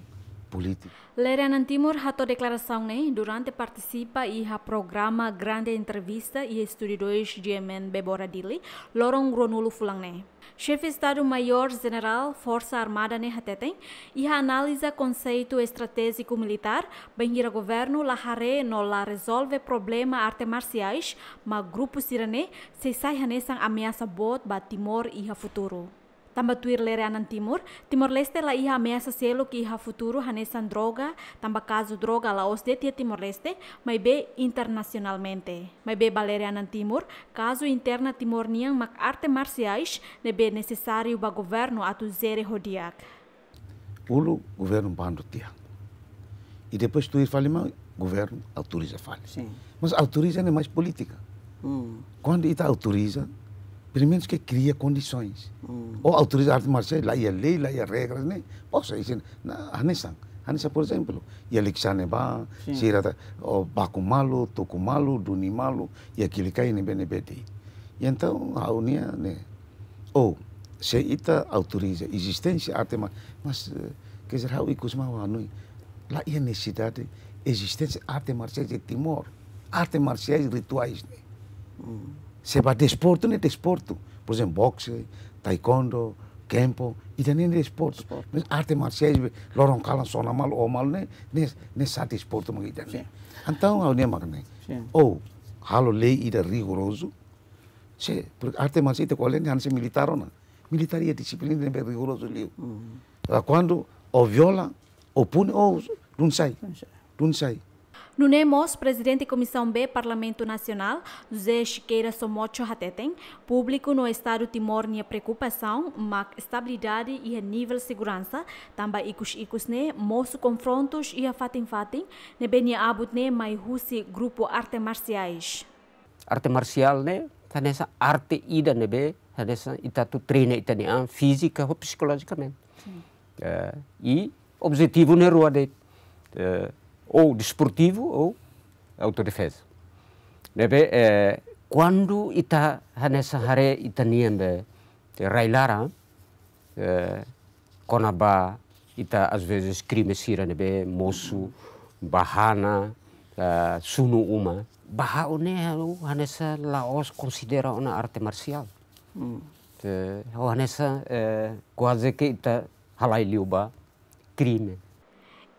Polítika. Lere Anan Timur hato'o deklarasaun ne'e durante partisipa iha programa Grande Entrevista iha Estúdiu dois G M N Bebora Dili, loron ruanulu fulan ne'e. Xefe Estadu Maiór Jenerál Forsa Armada ne'e hateten, iha analiza konseitu estratéjiku militár, bainhira governu la haree no la rezolve problema arte marsiais, mak grupu sira-ne'e sei sai hanesan ameasa boot ba Timor iha futuru. Tanba tuir Lere Anan Timur, Timor-Leste la iha ameasa seluk iha futuru hanesan droga, tanba kazu droga la'ós de'it iha Timor-Leste, maibé internasionalmente. Maibé ba Lere Anan Timur, kazu interna Timor nian mak arte marsiais ne'ebé nesesáriu ba governu atu jere ho di'ak. Uluk governu bandu tiha. I depois tuir fali mai governu autoriza fali. Sin. Mas autoriza ne'e mais polítika. Mm. Kuandu ita autoriza, pelumenus ke kria kondisoens. Mm. Ou autoriza arte marsiais, la iha lei, la iha regras ne'e. Pois, isin, na, hanesan. Hanesan, por ezemplu, iha Lixane ba, sin, sira ta, o baku malu, tuku malu, duni malu, iha Kilikai ne'ebé ne'ebé de'it. I entaun, ha'u-nia ne'e. Ou, se ita autoriza ezisténsia arte mar-, mas, eh, quer dizer, ha'u ikus mai ha'u hanoin, la iha nesesidade ezisténsia arte marsiais iha Timor. Arte marsiais rituais ne'e. Mm. Se ba desportu ne'e desportu. Por ezemplu, boxe, taekwondo, kempo, ida-ne'e desportu. Desportu. Mas arte marsiais, loron kalan sona malu, o malu ne'e, ne'e, ne'e sá desportu mak ida-ne'e. Sin. Entaun, ha'u-nia mak ne'e. Sin. Ou, halo lei ida rigorozu, se, porke arte marsiais ita ko'alia ne'e hanesan militár ona. Militár iha dixiplina ne'ebé rigorozu liu. Mm. Agora, kuandu o viola, o puni, o dun sai. Dun sai. Dun sai. Nune'e mós, Prezidente Komisaun B Parlamentu Nasionál, José Sequeira Somocho hateten, públiku no Estadu Timor nia preokupasaun mak estabilidade iha nivel seguransa, tanba ikus-ikus ne'e mosu konfrontus iha fatin-fatin, ne'ebé nia abut ne'e mai husi grupu arte marsiais. Arte marsiál ne'e hanesan arte ida ne'ebé hanesan ita atu treina ita-nia an fízika ou psikolojikamente. Sin. Eh, i objetivu ne'e rua de'it, eh, ou desportivu ou autodefeza. Ne'ebé, eh, kuandu ita hanesan haree ita-nian be rai-laran, eh, kona-ba ita às vezes krime sira ne'ebé mosu, ba hana, eh, sunu uma. Ba ha'u ne'e ha'u hanesan la'ós konsidera ona arte marsiál. Hmm. Eh, ha'u hanesan, eh, kuaze ke ita halai liu ba krime.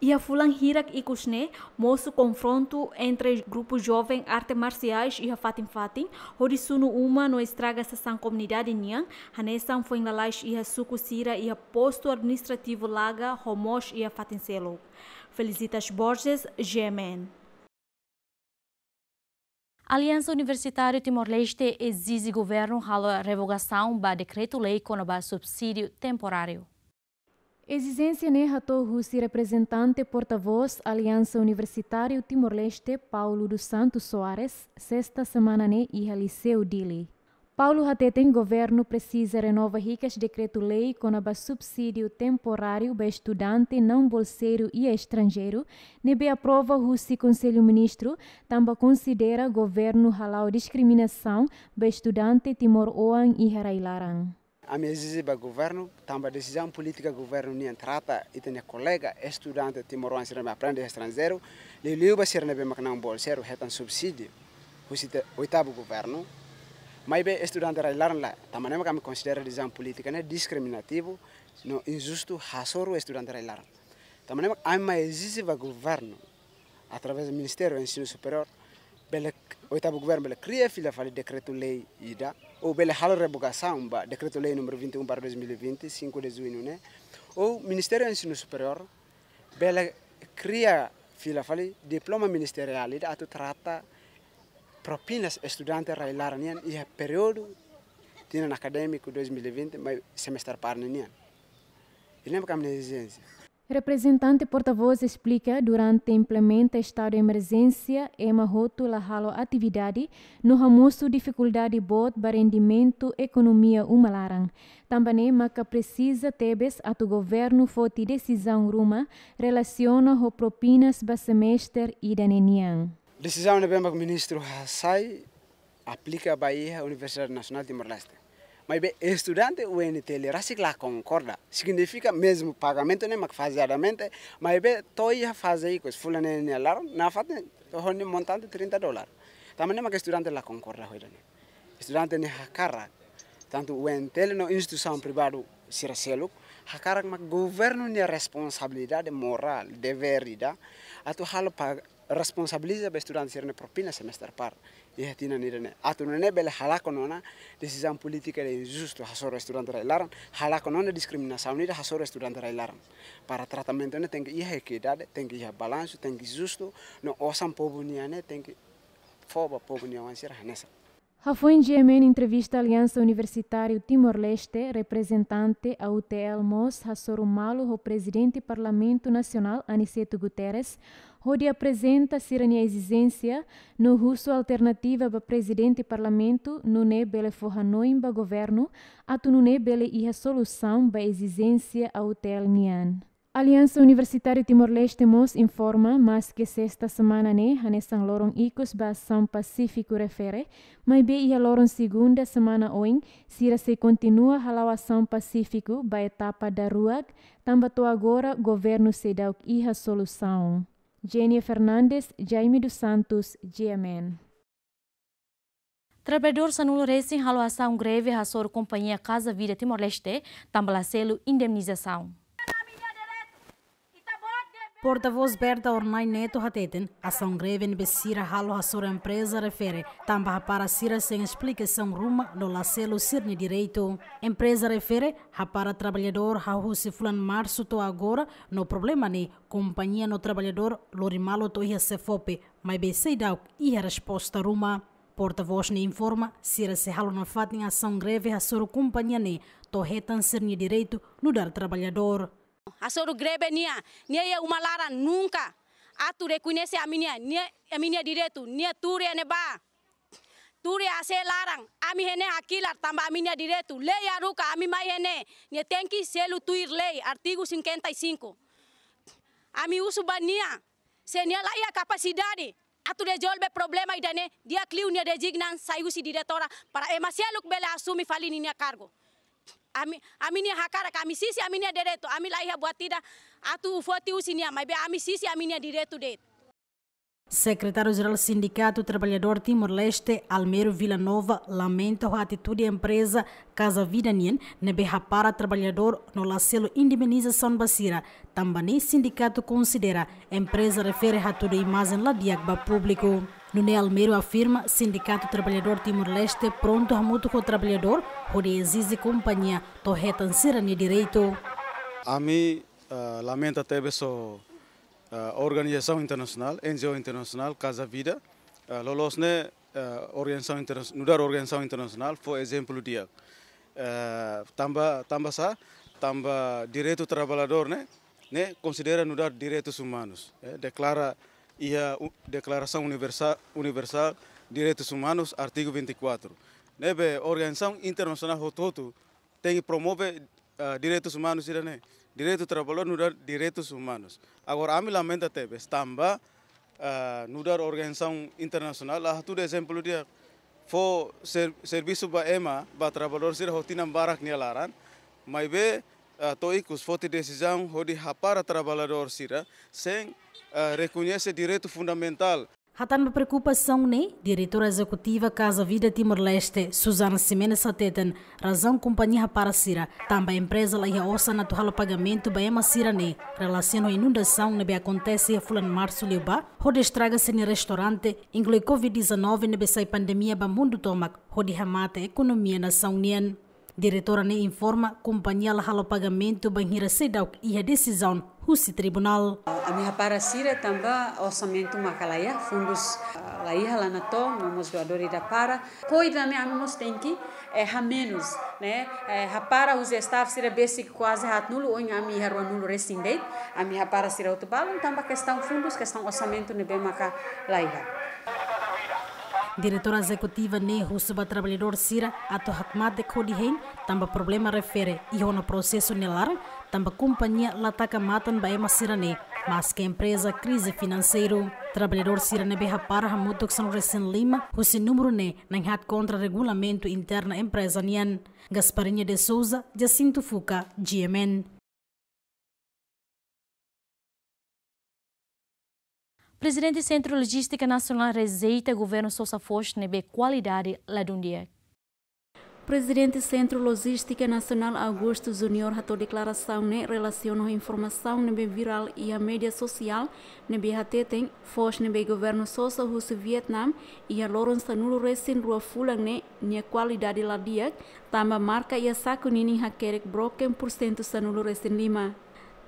Iha fulan hirak ikus ne'e, mosu konfrontu entre grupu joven arte marsiais iha fatin-fatin, hodi sunu uma no estraga sasán komunidade nian, hanesan foin lalais iha suku sira iha postu administrativu Laga, ho mós iha fatin seluk. Felicitas Borges, G M N. Aliansa Universitáriu Timor-Leste ezije governu halo revogasaun ba dekretu-lei kona-ba subsídiu temporáriu. Ezijénsia ne'e hato'o husi reprezentante portavós Aliansa Universitáriu Timor-Leste, Paulo dos Santos Soares, sesta semana ne'e iha Liseu Dili. Paulo hateten governu presiza renova hikas dekretu-lei kona-ba subsídiu temporáriu ba estudante naun bolseiru iha estranjeiru, ne'ebé aprova husi Konsellu Ministru, tanba konsidera governu hala'o diskriminasaun ba estudante timoroan iha rai-laran. Ami ezije ba governu, tanba desizaun polítika governu nian trata ita-nia kolega estudante timoroan sira ne'ebé aprende iha estranjeiru, liuliu ba sira ne'ebé mak naun bolseiru hetan subsídiu husi te-, oitavu governu. Maibé estudante rai-laran lae, tanba ne'e mak ami konsidera desizaun polítika ne'e diskriminativu no injustu hasoru estudante rai-laran. Tanba ne'e mak ami mai ezije ba governu, através Ministériu Ensinu Superiór, bele, oitavu governu bele kria fila fali dekretu-lei ida, ou bele halo revogasaun ba dekretu-lei númeru vinte e um barra dois mil e vinte, cinco de junho ne'e, ou Ministériu Ensinu Superiór bele kria fila fali diploma ministeriál ida atu trata propinas estudante rai-laran nian iha períodu tinan akadémiku dois mil e vinte mai semestre par ne'e nian. Ida-ne'e mak ami-nia ezijénsia. Reprezentante portavós esplika, durante implementa estadu emerjénsia, ema hotu la halo atividade, no hamosu difikuldade boot ba rendimentu ekonomia uma laran. Tanba ne'e maka presiza tebes atu governu foti desizaun ruma relasiona ho propinas ba semestre ida-ne'e nian. Desizaun ne'ebé mak ministru hasai aplika ba iha Universidade Nasionál Timor-Leste. Maibé estudante U N T L rasik la konkorda. Signifika mezmu pagamentu ne'e mak fazeadamente, maibé to'o iha faze ikus fulan ne'e nia laran, nafatin to'o ho nia montante trinta dólar. Tanba ne'e mak estudante la konkorda ho ida-ne'e. Estudante ne'e hakarak, tantu U N T L no instituisaun privadu sira seluk, hakarak mak governu nia responsabilidade morál, devér ida, atu halo pa responsabiliza ba estudante sira-nia propina semester par. Iha tinan ida-ne'e. Atu nune'e bele halakon ona desizaun polítika ida injustu hasoru estudante rai-laran, halakon ona diskriminasaun ida hasoru estudante rai-laran. Para tratamentu ne'e tenke iha ekuidade, tenke iha balansu, tenke justu, no osan povu nian ne'e tenke fó ba povu nia oan sira hanesan. Hafoin G M N entrevista Aliansa Universitáriu Timor-Leste, reprezentante A U T L mós hasoru malu ho Prezidente Parlamentu Nasionál Aniceto Guterres, hodi aprezenta sira-nia ezijénsia no husu alternativa ba Prezidente Parlamentu, nune'e bele fó hanoin ba governu, atu nune'e bele iha solusaun ba ezijénsia A U T L nian. Aliansa Universitáriu Timor-Leste mós informa, maske sesta semana ne'e hanesan loron ikus ba asaun pasífiku refere, maibé iha loron segunda semana oin, sira sei kontinua hala'o asaun pasífiku ba etapa daruak, tanba to'o agora governu seidauk iha solusaun. Jenia Fernandes, Jaime dos Santos, G M N. Traballadór sanulu resin halo asaun greve hasoru kompañia Casa Vida Timor-Leste, tanba la selu indemnizasaun. Portavós Berta Ornai Neto hateten, asaun greve ne'ebé sira halo hasoru empreza refere, tanba hapara sira sein esplikasaun ruma no la selu sira-nia direitu. Empreza refere hapara traballadór hahú husi fulan Marsu to'o agora, no problema ne'e kompañia no traballadór lori malu to'o iha SEFOPE, maibé seidauk iha resposta ruma. Portavós ne'e informa, sira sei halo nafatin asaun greve hasoru kompañia ne'e to'o hetan sira-nia direitu nu'udar traballadór. Hasoru greve nia, nia iha uma laran nunka atu rekoñese ami-nia, nia, ami-nia direitu, nia tuur iha ne'ebá. Tuur iha A C laran, ami iha ne'e hakilar tanba ami-nia direitu. Lei haruka ami mai iha ne'e, nia tenke selu tuir lei, artigu cinquenta e cinco. Ami husu ba nia, se nia la iha kapasidade atu rezolve problema ida-ne'e, di'ak liu nia rezigna sai husi diretora para ema seluk bele asume fali ninia kargu. Ami, ami-nia hakarak, ami sisi ami-nia direitu, ami la iha buat ida atu foti husi nia, maibé ami sisi ami-nia direitu de'it. Sekretáriu Jerál Sindikatu Traballadór Timor-Leste, Almero Vila Nova, lamenta ho atitude empreza Casa Vida nian, ne'ebé hapara traballadór no la selu indemnizasaun ba sira, tanba ne'e sindikatu konsidera empreza refere hatudu imajen la di'ak ba públiku. Nune'e Almero afirma, Sindikatu Traballadór Timor-Leste prontu hamutuk ho traballadór hodi ezije kompañia to'o hetan sira-nia direitu. Ami, ah, lamenta tebes ho, ah, organizasaun internasionál, N G O internasionál, Casa Vida, ah, loloos ne'e, ah, organizasaun interna-, nu'udar organizasaun internasionál, fó ezemplu di'ak. Ah, tanba, tanba sá, tanba direitu traballadór ne'e, ne'e konsidera nu'udar direitus umanus, eh, deklara iha u-, Deklarasaun Universa-, Universál Direitus Umanus, artigu vinte e quatro. Ne'ebé organizasaun internasionál hotu-hotu tenke promove, ah, direitus umanus sira-ne'e. Direitu traballadór nu'udar direitus umanus. Agora, ami lamenta tebes, tanba, ah, nu'udar organizasaun internasionál la hatudu ezemplu di'ak, fó ser-, servisu ba ema, ba traballadór sira ho tinan barak nia laran, maibé, ah, to'o ikus foti desizaun hodi hapara traballadór sira sein, ah, rekoñese direitu fundamentál. Hatán ba preokupasaun ne'e, Diretora Ezekutiva Casa Vida Timor-Leste, Susana Ximenes hateten, razaun kompañia hapara sira, tanba empreza la iha osan atu halo pagamentu ba ema sira-ne'e, relasiona ho inundasaun ne'ebé akontese iha fulan Marsu liubá, hodi estraga sira-nia restaurante, inklui covid dezanove ne'ebé sai pandemia ba mundu tomak, hodi hamate ekonomia nasaun nian. Diretora ne'e informa, kompañia la halo pagamentu bainhira seidauk iha desizaun husi tribunál. Ami hapara sira tanba orsamentu maka la iha, fundus, ah, la iha, la natoon, no mós doadór ida para. Koi dame ami mós tenke, eh, hamenus, ne'e? Eh, hapara husi staff sira besik kuaze haatnulu, ohin ami iha ruanulu resin de'it. Ami hapara sira hotu balun, tanba kestaun fundus, kestaun orsamentu ne'ebé maka la iha. Diretora Ezekutiva ne'e husu ba traballadór sira atu hakmatek hodi hein, tanba problema refere iha ona prosesu nia laran, tanba kompañia la taka matan ba ema sira-ne'e, maske empreza krize finanseiru. Traballadór sira ne'ebé hapara hamutuk sanulu-resin-lima husi númeru ne'e na'in-haat kontra regulamentu interna empreza nian. Gasparinha de Souza, Jacinto Fuca, G M N. Prezidente Sentru Lojístika Nasionál rejeita governu sosa foos ne'ebé kualidade ladún di'ak. Prezidente Sentru Lojístika Nasionál Augusto Junior hato'o deklarasaun ne'e relasiona ho informasaun ne'ebé virál iha média sosiál ne'ebé hateten foos ne'ebé governu sosa husi Vietnam iha loron sanulu-resin-rua fulan ne'e nia kualidade la di'ak, tanba marka iha saku ninin hakerek broken pursentu sanulu-resin-lima.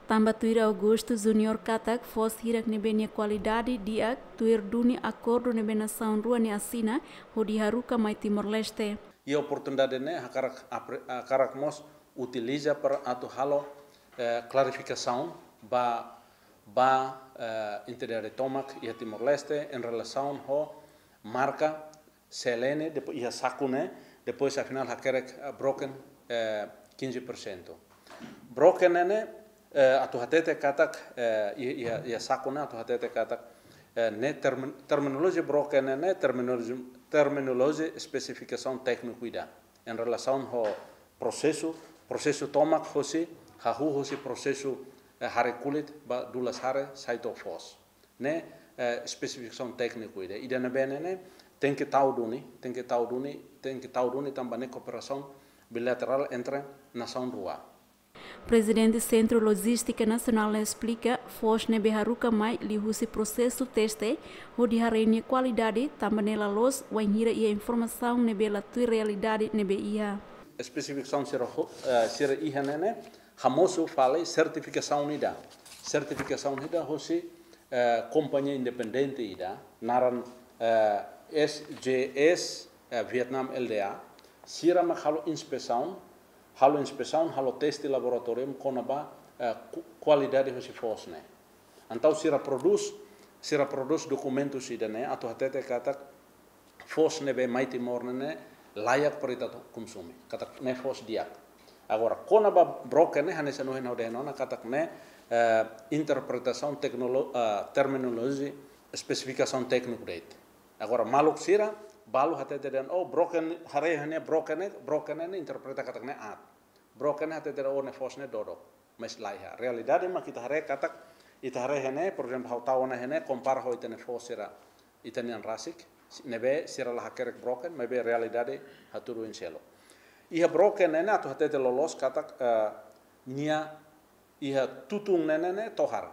Tanba tuir Augusto Junior katak foos hirak ne'ebé nia kualidade di'ak tuir duni akordu ne'ebé nasaun rua ne'e asina hodi haruka mai Timor-Leste. Iha oportunidade ne'e hakarak apre-, hakarak mós utiliza para atu halo, eh, klarifikasaun ba, ba, eh, entidade tomak iha Timor-Leste en relasaun ho marka C L N, depois iha saku ne'e, depois afinál hakerek, eh, broken, eh, quinze por cento. Broken ne'e, eh, atu hatete katak, eh, iha, iha, iha saku ne'e atu hatete katak, eh, ne'e termin-, terminolojia broken ne'e, terminolojia, terminolojia espesifikasaun tékniku ida. En relasaun ho prosesu, prosesu tomak hosi, hahú hosi prosesu, eh, hare kulit ba dulas hare sai to'o foos. Ne'e, eh, espesifikasaun tékniku ida. Ida ne'ebé ne'e, ne'e, tenke tau duni, tenke tau duni, tenke tau duni tanba ne'e kooperasaun bilaterál entre nasaun rua. Prezidente Sentru Lojístika Nasionál esplika, foos ne'ebé haruka mai liuhusi prosesu teste, hodi haree nia kualidade, tanba ne'e la loos, wainhira iha informasaun ne'ebé la tuir realidade ne'ebé iha. Espesifikasaun sira ho-, eh, sira iha ne'e ne'e, hamosu fali sertifikasaun ida. Sertifikasaun ida hosi, eh, kompañia independente ida, naran, eh, S J S, eh, Vietnam L D A, sira mak halo inspesaun, halo inspesaun, halo teste laboratóriu kona-ba, eh, ku-, kualidade hosi foos ne'e. Entaun sira prodús, sira prodús dokumentus ida-ne'e, atu hatete katak foos ne'ebé mai Timor ne'e ne'e layak para ita atu konsumi. Katak ne'e foos di'ak. Agora, kona-ba broken ne'e, hanesan ohin ha'u dehan ona katak ne'e, eh, interpretasaun teknolo-, eh, terminolojia espesifikasaun tékniku de'it. Agora, maluk sira, balu hatete dehan, oh, broken, haree iha ne'e broken ne'e, broken ne'e interpreta katak ne'e aat. Broken ne'e hatete dehan, oh, ne'e foos ne'e dodok. Mas laiha. Realidade mak ita haree katak, ita haree iha ne'e, por ezemplu, ha'u tau ona iha ne'e, kompara ho ita-nia foos sira, ita-nian rasik, ne'ebé sira la hakerek broken, maibé realidade hatudu oin seluk. Iha broken ne'e ne'e atu hatete loloos katak, eh, nia iha tutun ne'e ne'e ne'e tohar.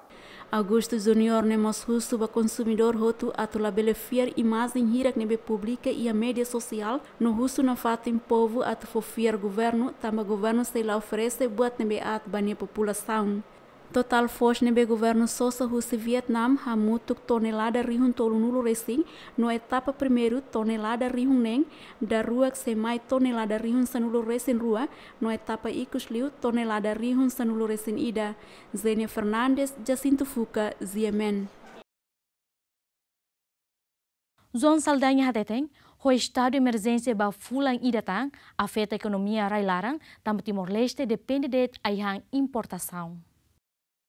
Augusto Junior ne'e mós husu ba konsumidór hotu atu labele fiar imajen hirak ne'ebé publika iha média sosiál, no husu nafatin povu atu fó fiar governu, tanba governu sei la oferese buat ne'ebé aat ba nia populasaun. Totál foos ne'ebé governu sosa husi Vietnam hamutuk tonelada rihun tolunulu resin, no etapa primeiru tonelada rihun neen, daruak sei mai tonelada rihun sanulu resin rua, no etapa ikus liu tonelada rihun sanulu resin ida. Zenia Fernandes, Jacinto Fuca, G M N. João Saldanha hateten, ho estadu emerjénsia ba fulan ida tan, afeta ekonomia rai-laran, tanba Timor-Leste depende de'it ai-han importasaun.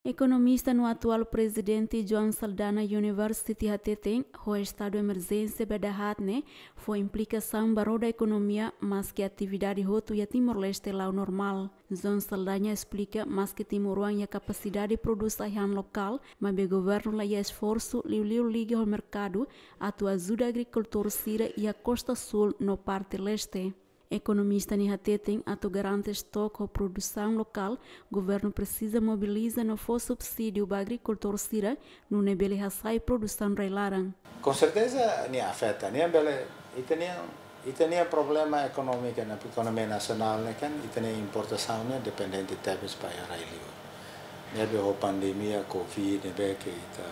Ekonomista no atuál prezidente João Saldanha University hateten, ho estadu emerjénsia ba dahaat ne'e, fó implikasaun ba roda ekonomia, maske atividade hotu iha Timor-Leste la'o normál. João Saldanha esplika, maske timoroan iha kapasidade prodús ai-han lokál, maibé governu la iha esforsu liuliu liga ho merkadu atu ajuda agrikultór sira iha Kosta Súl no parte Leste. Ekonomista ne'e hateten atu garante estok ho produsaun lokál, governu presiza mobiliza no fó subsídiu ba agrikultór sira, nune'e bele hasa'e produsaun rai-laran. Com certeza, nia afeta, nia bele, ita-nia, ita-nia problema ekonómiku iha ekonomia nasionál ne'e kan, ita-nia importasaun ne'e dependente tebes ba rai-liur. Ne'ebé ho pandemia covid ne'ebé ke ita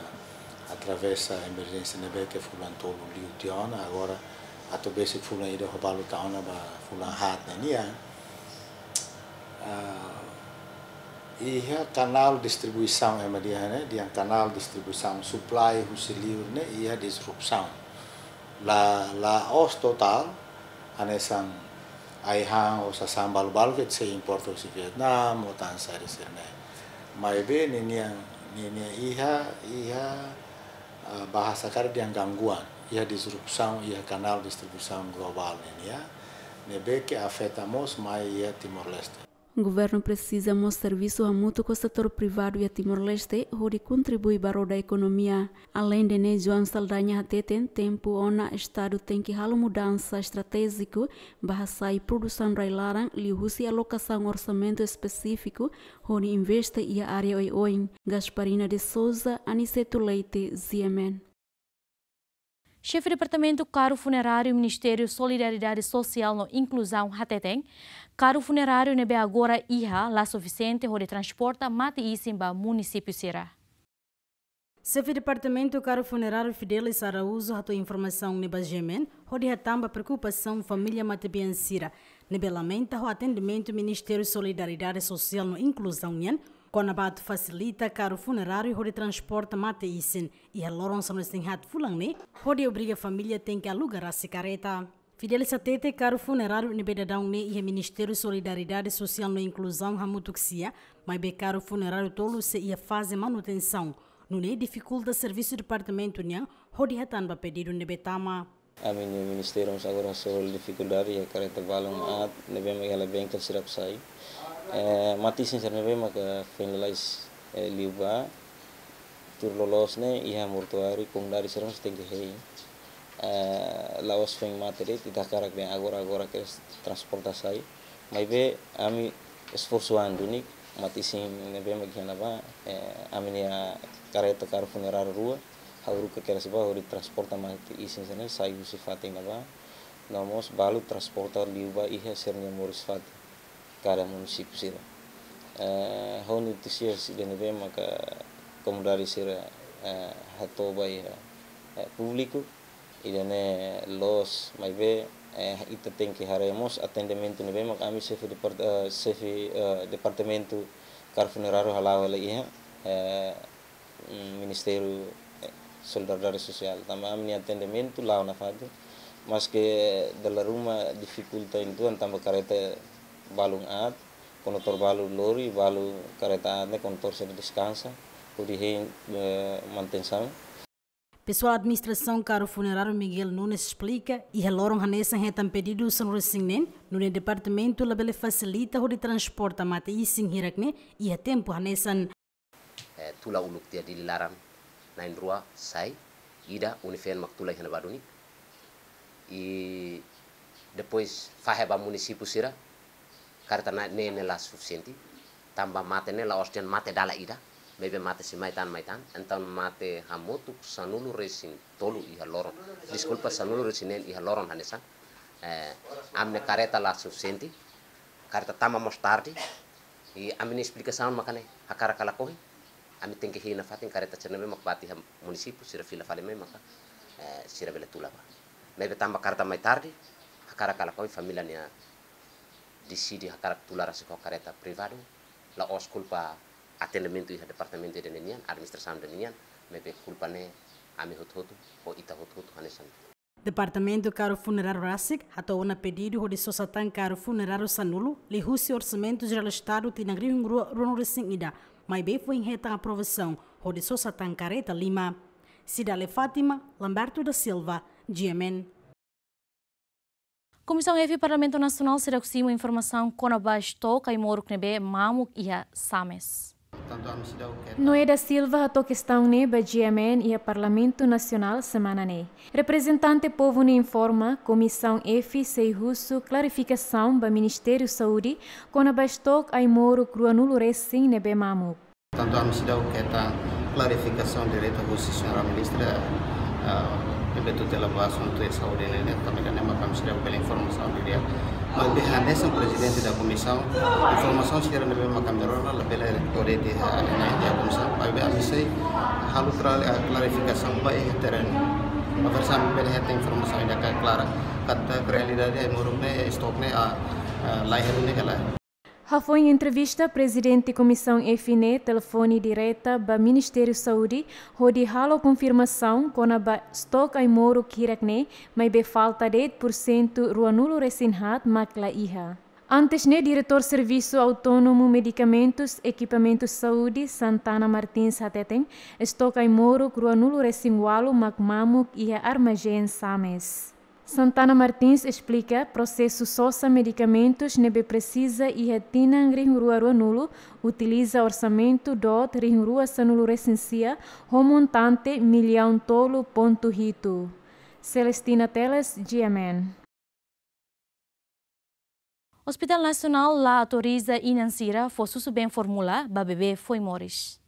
atravesa emerjénsia ne'ebé ke fulan tolu liu tiha ona, agora atu besik fulan ida ho balu tau ona ba fulan haat ne'e nian. Ah, iha kanál distribuisaun ema dehan ne'e, dehan kanál distribuisaun supply husi liur ne'e iha disrupsaun. La, la'ós totál, hanesan Ai-han ou sasán balu-balu ke sei importa husi Vietnam, ou tansá sira-ne'e. Maibé ninian, ninian iha, iha, ah, bahasa karik dehan gangguan, iha disrupsaun, iha kanál distribuisaun globál ninian, ne'ebé ke afeta mós mai iha Timor-Leste. Governu presiza mós servisu hamutuk ho setór privadu iha Timor-Leste, hodi kontribui ba roda ekonomia. Aleinde ne'e, João Saldanha hateten, tempu ona Estadu tenke halo mudansa estratéjiku, ba hasa'e produsaun rai-laran, liuhusi alokasaun orsamentu espesífiku, hodi investe iha área oioin. Gasparina de Souza, Aniceto Leite, G M N. Xefe Departamentu Karu Funeráriu Ministériu Solidariedade Sosiál no Inkluzaun hateten, karu funeráriu ne'ebé agora iha la sufisiente hodi transporta mate-isin ba munisípiu sira. Xefe Departamentu Karu Funeráriu Fidelis Araújo hato'o informasaun ne'e ba G M N, hodi hatán ba preokupasaun família matebian sira, ne'ebé lamenta ho atendimentu Ministériu Solidariedade Sosiál no Inkluzaun nian, kona-ba atu fasilita karu funeráriu hodi transporta mate-isin, iha loron sanulu-resin-haat fulan ne'e, hodi obriga família tenke aluga rasik kareta. Fidelis hateten karu funeráriu ne'ebé daudaun ne'e iha Ministériu Solidariedade Sosiál no Inkluzaun hamutuk sira, maibé karu funeráriu tolu sei iha faze manutensaun, nune'e difikulta servisu departamentu nian hodi hatán ba pedidu ne'ebé tama. Ami-nia ministériu mós agora hasoru difikuldade iha kareta balun aat ne'ebé mak iha la bengkel sira atu sai. Eh, mate-isin sira ne'ebé maka foin lalais, eh, liu ba, tuir loloos ne'e iha mortuáriu, komunidade sira mós tenke hein. Eh, la'ós foin mate de'it, ita hakarak dehan agora-agora kedas transporta sai. Maibé ami esforsu an duni, mate-isin ne'ebé mak iha ne'ebá, eh, ami-nia kareta karu funeráriu rua, ha'u haruka kedas ba hodi transporta mate-isin sira-ne'e sai husi fatin ne'ebá, no mós balu transporta liu ba iha sira-nia moris fatin, kada munisípiu sira. Eh, ho notísias ida ne'ebé maka komunidade sira, eh, hato'o ba iha, eh, públiku, ida-ne'e loos, maibé, eh, ita tenke haree mós atendimentu ne'ebé mak ami xefe depart-, eh, xefe, eh, departamentu karu funeráriu hala'o hela iha, eh, mm, Ministériu, eh, Solidariedade Sosiál. Tanba ami-nia atendimentu la'o nafatin, maske dala ruma difikulta uitoan tanba kareta balun aat, kondutór balu lori, balu kareta aat ne'e kondutór sira deskansa, hodi hein, eh, manutensaun. Pesoál administrasaun karu funeráriu Miguel Nunes esplika, iha loron hanesan hetan pedidu sanulu-resin-neen, nune'e departamentu labele fasilita hodi transporta mate-isin hirak ne'e iha tempu hanesan. Eh, tula uluk tiha Dili laran na'in-rua sai, ida UNIFEM mak tula iha ne'ebá duni. I depois fahe ba munisípiu sira, kareta ne'e, ne'e la sufisiente. Tanba mate ne'e la'ós dehan mate dala ida, maibé mate sei mai tan, mai tan. Entaun mate hamutuk sanulu-resin-tolu iha loron. Deskulpa, sanulu-resin-neen iha loron hanesan. Eh, ami-nia kareta la sufisiente, kareta tama mós tarde. I ami-nia esplikasaun mak ne'e, hakarak ka lakohi, ami tenke hein nafatin kareta sira ne'ebé mak bá tiha munisípiu, sira fila fali mai maka, eh, sira bele tula ba. Maibé tanba kareta mai tarde, hakarak ka lakohi família nian deside hakarak tula rasik ho kareta privadu, la'ós kulpa atendimentu iha departamentu ida-ne'e nian, administrasaun ida-ne'e nian, maibé kulpa ne'e ami hotu-hotu, ou ita hotu-hotu hanesan. Departamentu karu funeráriu rasik hato'o ona pedidu hodi sosa tan karu funeráriu sanulu, liuhusi Orsamentu Jerál Estadu tinan rihun rua ruanulu-resin-ida, maibé foin hetan aprovasaun hodi sosa tan kareta lima. Cidalia Fátima, Lamberto da Silva, G M N. Komisaun F Parlamentu Nasionál seidauk simu informasaun kona-ba estok ai-moruk ne'ebé mamuk iha Sames. Noé da Silva hato'o kestaun ne'e ba G M N iha Parlamentu Nasionál semana ne'e. Reprezentante povu ne'e informa, Komisaun F sei husu klarifikasaun ba Ministériu Saúde kona-ba estok ai-moruk ruanulu-resin ne'ebé mamuk. Tantu ami seidauk hetan klarifikasaun direta husi señora ministra, eh, ne'ebé tutela ba asuntu saúde ne'e, ne'e, tanba ne'e maka ami seidauk bele informasaun didi'ak. Maibé hanesan prezidente da komisaun, informasaun sira ne'ebé maka ami rona labele kore iha ne'e, iha komisaun. Maibé ami sei halo kla-, eh, klarifikasaun ba iha terrenu. Para ami bele hetan informasaun ida klara. Katak realidade ai-moruk ne'e, estok ne'e, ah, ah, la iha ne'e kala. Hafoin entrevista, Prezidente Komisaun F ne'e telefone direta ba Ministériu Saúde, hodi halo konfirmasaun kona-ba stok ai-moruk hirak ne'e, maibé falta de'it pursentu ruanulu resin haat mak la iha. Antes ne'e, Diretór Servisu Autónomu Medikamentus Ekipamentus Saúde, Santana Martins hateten, stok ai-moruk ruanulu resin ualu mak mamuk iha armazén Sames. Santana Martins esplika, prosesu sosa medikamentus ne'ebé presiza iha tinan rihun rua ruanulu, utiliza orsamentu doot rihun rua sanulu resin sia, ho montante millaun tolu pontu hitu. Celestina Teles, G M N. Hospital Nasionál la autoriza inan sira fó susubeen fórmula ba bebé foin moris.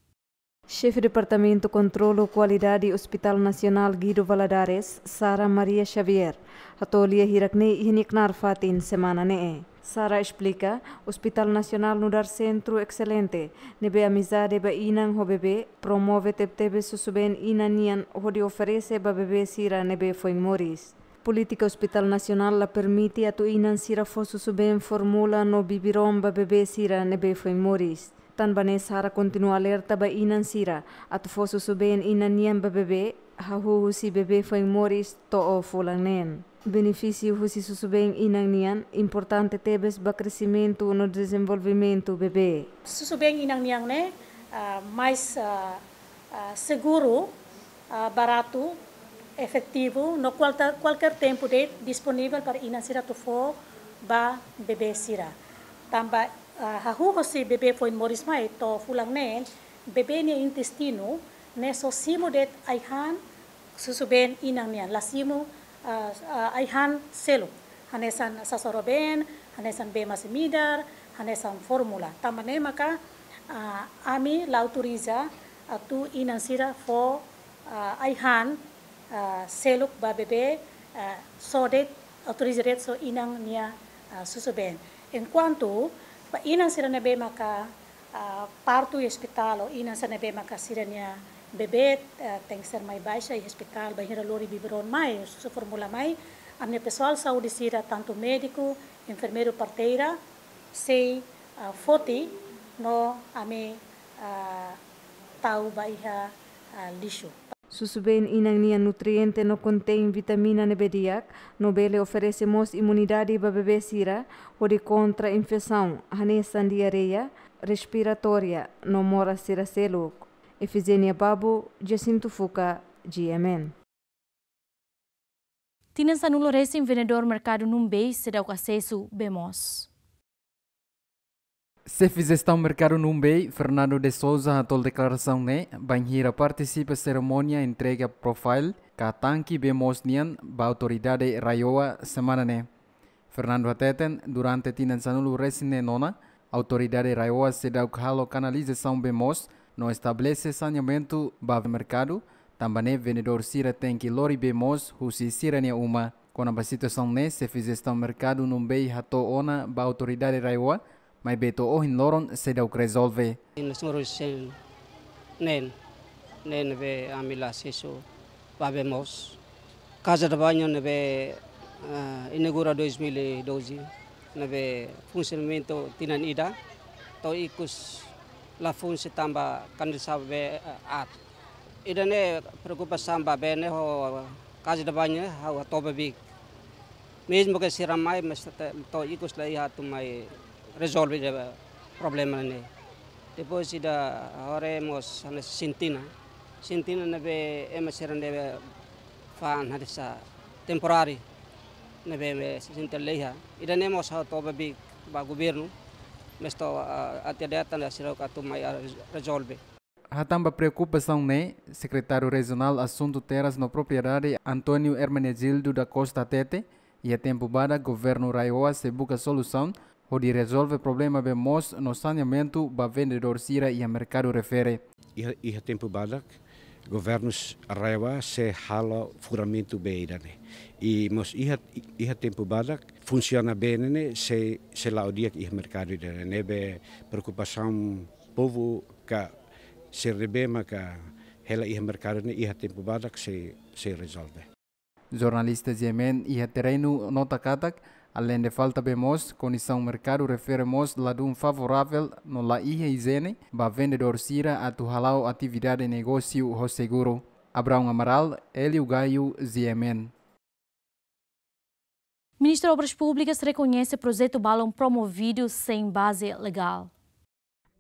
Xefe Departamentu Kontrolu Kualidade Hospital Nasionál Guido Valadares, Sara Maria Xavier, hato'o lia hirak ne'e iha nia knaar fatin semana ne'e. Sara esplika, Hospital Nasionál nu'udar sentru excelente, ne'ebé amizade ba inan ho bebé, promove tebetebes susubeen inan nian hodi oferese ba bebé sira ne'ebé foin moris. Polítika Hospital Nasionál la permite atu inan sira fó susubeen fórmula no biberon ba bebé sira ne'ebé foin moris. Tanba ne'e Sara kontinua alerta ba inan sira atu fó susubeen inan nian ba bebé, hahú husi bebé foin moris to'o fulan neen. Benefísiu husi susubeen inan nian importante tebes ba kresimentu no dezenvolvimentu bebé. Susubeen inan nian ne'e, ah, mais, ah, ah, seguru, ah, baratu, efetivu, no kualta-, kualkér tempu de'it disponivel para inan sira atu fó ba bebé sira. Tanba, ah, hahú hosi bebé foin moris mai to'o fulan neen, bebé nia intestinu ne'e só simu de'it ai-han susubeen inan nian, la simu, ah, ah, ai-han seluk. Hanesan sasoro been, hanesan bee masin-midar, hanesan fórmula. Tanba ne'e maka, ah, ami la autoriza atu inan sira fó, ah, ai-han, ah, seluk ba bebé, ah, só de'it, autoriza de'it só inan nia, ah, susubeen. Enkuantu ba inan sira ne'ebé maka, ah, partu iha ospitál, ou inan sira ne'ebé maka sira-nia bebé, ah, tenke ser mai baixa iha ospitál, bainhira lori biberon mai, susu fórmula mai, ami-nia pesoál saúde sira, tantu médiku, enfermeiru, parteira, sei, ah, foti no ami, ah, tau ba iha, ah, lixu. Susubeen inan nian nutriente no kontein vitamina ne'ebé di'ak, no bele oferese mós imunidade ba bebé sira, hodi kontra infesaun, hanesan diarreia respiratória, no moras sira seluk. Efigénia Babu, Jacinto Fuca, G M N. Tinan sanulu resin vendedór merkadu Numbei seidauk asesu bee moos. Xefe Jestaun Merkadu Numbei, Fernando de Sousa, hato'o deklarasaun ne'e bainhira partisipa serimónia entrega profile ka tanki bee moos nian ba autoridade RAEOA semana ne'e. Fernando hateten, durante tinan sanulu resin neen ona, autoridade RAEOA seidauk halo kanalizasaun bee moos no estabelese saneamentu ba merkadu, tanba ne'e vendedór sira tenke lori bee moos husi sira-nia uma. Kona-ba situasaun ne'e, Xefe Jestaun Merkadu Numbei hato'o ona ba autoridade RAEOA, maibé to'o ohin loron seidauk rezolve. Tinan sanulu resin neen, neen ne'ebé ami la asesu ba bee moos. Casa de banho ne'ebé, ah, inaugura dois mil e doze, ne'ebé funsionamentu tinan ida, to'o ikus la funsi tanba kanalizasaun bee, ah, aat. Ida-ne'e preokupasaun ba bee ne'e ho casa de banho ne'e ha'u hato'o ba biik. Mezmu ke sira mai, mas te-, to'o ikus la iha atu mai rezolve ida problema ne'e. Depois ida haree mós hanesan sintina. Sintina ne'ebé ema sira ne'ebé fa'an hanesan temporary ne'ebé, ne'ebé sintina la iha. Ida-ne'e mós ha'u hato'o ba biik ba governu. Mas to'o, ah, até data ne'e sira atu mai, ah, rezolve. Hatán ba preokupasaun ne'e, Sekretáriu Rejionál Asuntu Terras no Propriedade, António Hermenegildo da Costa hateten, iha tempu badak governu RAEOA sei buka solusaun hodi rezolve problema bee moos no saneamentu ba vendedór sira iha merkadu refere. Iha, iha tempu badak, governu RAEOA sei halo furamentu bee ida-ne'e. I mós iha, iha tempu badak, funsiona bee ne'e sei, sei la'o di'ak iha merkadu ida-ne'e. Ne'ebé preokupasaun povu ka sira ne'ebé maka hela iha merkadu ne'e iha tempu badak sei, sei rezolve. Jornalista G M N iha terrenu nota katak, Aleinde falta bee mós, kondisaun merkadu refere mós ladún favoravel no la iha ijiene ba vendedór sira atu hala'o atividade negósiu ho seguru. Abraão Amaral, Hélio Gaio, G M N. Ministru Obras Públikas rekoñese projetu balun promovidu sein baze legál.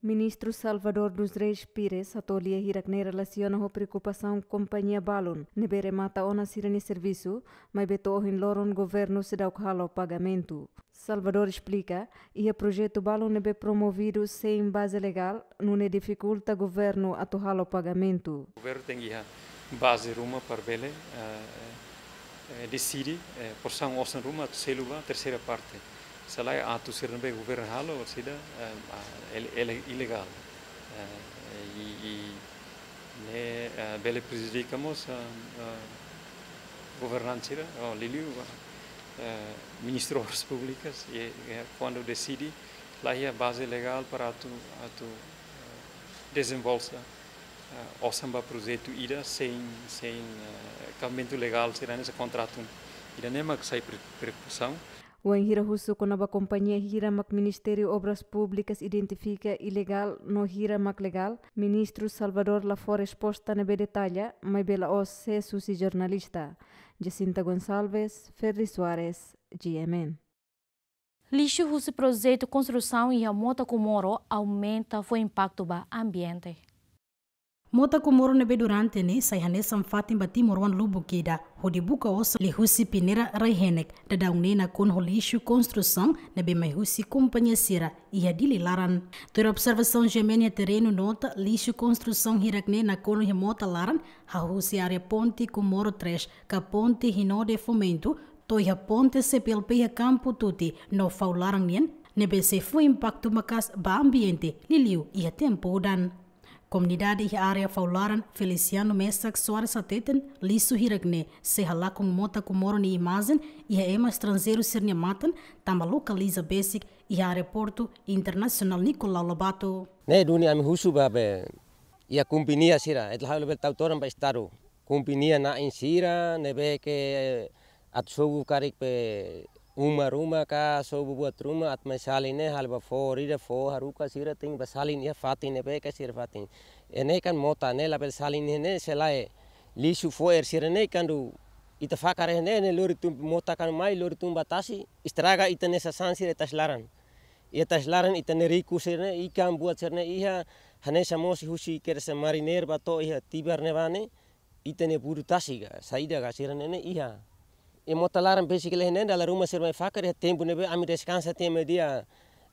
Ministru Salvador dos Reis Pires hato'o lia hirak-ne'e relasiona ho preokupasaun kompañia balun ne'ebé remata ona sira-nia servisu, maibé to'o ohin loron governu seidauk halo pagamentu. Salvador esplika, iha projetu balun ne'ebé promovidu sein baze legál, nune'e difikulta governu atu halo pagamentu. Governu tenke iha baze ruma para bele, eh, eh, deside, eh, porsaun osan ruma atu selu ba terseira parte. Se lae atu sira ne'ebé governu halo, sira, eh, ah, ele-, ele-, ilegál. Eh, i, i ne'e, eh, bele prejudika mós, eh, eh, governante sira, oh, liuliu, eh, Ministru Obras Públikas, i, eh, kuandu deside, la iha baze legál para atu, atu, eh, dezenvolve, eh, osan ba projetu ida sein, sein, eh, kabamentu legál sira-ne'e, sein kontratu. Ida-ne'e mak sai pre-, preokupasaun. Wainhira husu kona-ba kompañia hira mak Ministériu Obras Públikas identifika ilegál no hira mak legál, Ministru Salvador la fó resposta ne'ebé detalla, maibé la'ós sees husi jornalista. Jacinta Gonçalves, Ferdi Soares, G M N. Lixu husi projetu konstrusaun iha Mota Comoro aumenta fó impaktu ba ambiente. Mota Comoro ne'ebé durante ne'e sai hanesan fatin ba timoroan lubuk ida, hodi buka osan liuhusi peneira rai-henek, daudaun ne'e nakonu ho lixu konstrusaun ne'ebé mai husi kompañia sira iha Dili laran. Tuir observasaun G M N iha terrenu nota, lixu konstrusaun hirak-ne'e nakonu iha mota laran, hahú husi área ponte Comoro três, ka ponte Rinode Fomento, to'o iha ponte C P L P iha Kampu Tuti no Faularan nian, ne'ebé sei fó impaktu maka'as ba ambiente, liuliu iha tempu udan. Komunidade iha área Faularan, Feliciano Mesak Soares hateten, lixu hirak-ne'e sei halakon Mota Comoro nia imajen iha ema estranjeiru sira-nia matan, tanba lokaliza besik iha Aeroportu Internasionál Nicolau Lobato. Ne'e duni ami husu ba be iha kompañia sira, ita la halo bele tau todan ba Estadu. Kompañia na'in sira ne'ebé ke atu sobu karik be uma ruma ka sobu buat ruma atu mai salin ne'e halo ba fó ida fó haruka sira tenke ba salin iha fatin ne'ebé ke sira fatin. Ne'e kan mota ne'e labele salin ne'e, ne'e se lae lixu fo'er sira-ne'e kuandu ita fakar ne'e, ne'e lori tun mota kan mai lori tun ba tasi, estraga ita-nia sasán sira iha tasi laran. Iha tasi laran ita-nia riku sira-ne'e, ikan buat sira-ne'e iha, hanesan mós husi kedas marinir ba to'o iha Tibar ne'ebá ne'e, ita-nia budu tasi ka, saida ka sira-ne'e ne'e iha. I mota laran besik laiha ne'e, dala ruma sira mai fakar iha tempu ne'ebé ami deskansa tiha meiudia.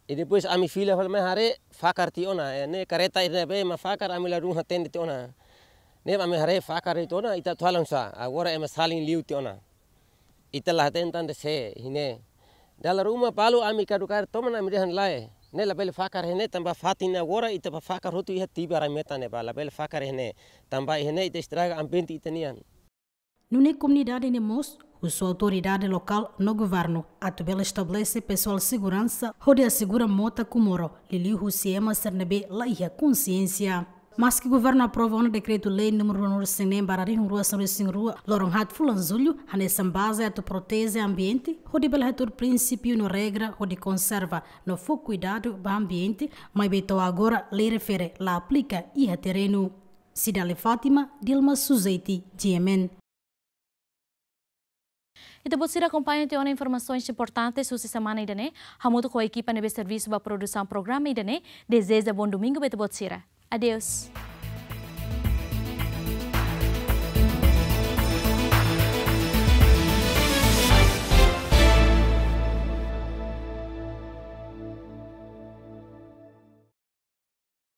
I depois ami fila fali mai haree fakar tiha ona, eh, ne'e kareta ida ne'ebé ema fakar ami ladún hatene tiha ona. Ne'e ami haree fakar tiha ona, ita atu halo oinsá, agora ema salin liu tiha ona. Ita la hatene tan de'it sé, iha ne'e. Dala ruma balu ami kadu kar toman ami dehan lae. Ne'e labele fakar iha ne'e tanba fatin agora ita ba fakar hotu iha Tibar rai metan ne'ebá, labele fakar iha ne'e. Tanba iha ne'e ita estraga ambiente ita-nian. Nune'e komunidade ne'e mós husu autoridade lokál no governu atu bele estabelese pesoál seguransa hodi asegura Mota Comoro, liuliu husi ema sira ne'ebé la iha konsiénsia. Maski governu aprova ona dekretu-lei númeru ruanulu-resin-neen barra rihun rua sanulu-resin-rua, loron haat fulan Jullu, hanesan baze atu proteje ambiente, hodi bele hatuur prinsípiu no regra hodi konserva no fó kuidadu ba ambiente, maibé to'o agora lei refere la aplika iha terrenu. Cidale Fátima, Dilma Suzeti, G M N. Ita-boot sira akompaña tiha ona informasaun importante husi semana ida-ne'e, hamutuk ho ekipa ne'ebé servisu ba produsaun programa ida-ne'e, dezeja bom domingo ba ita-boot sira. Adeus.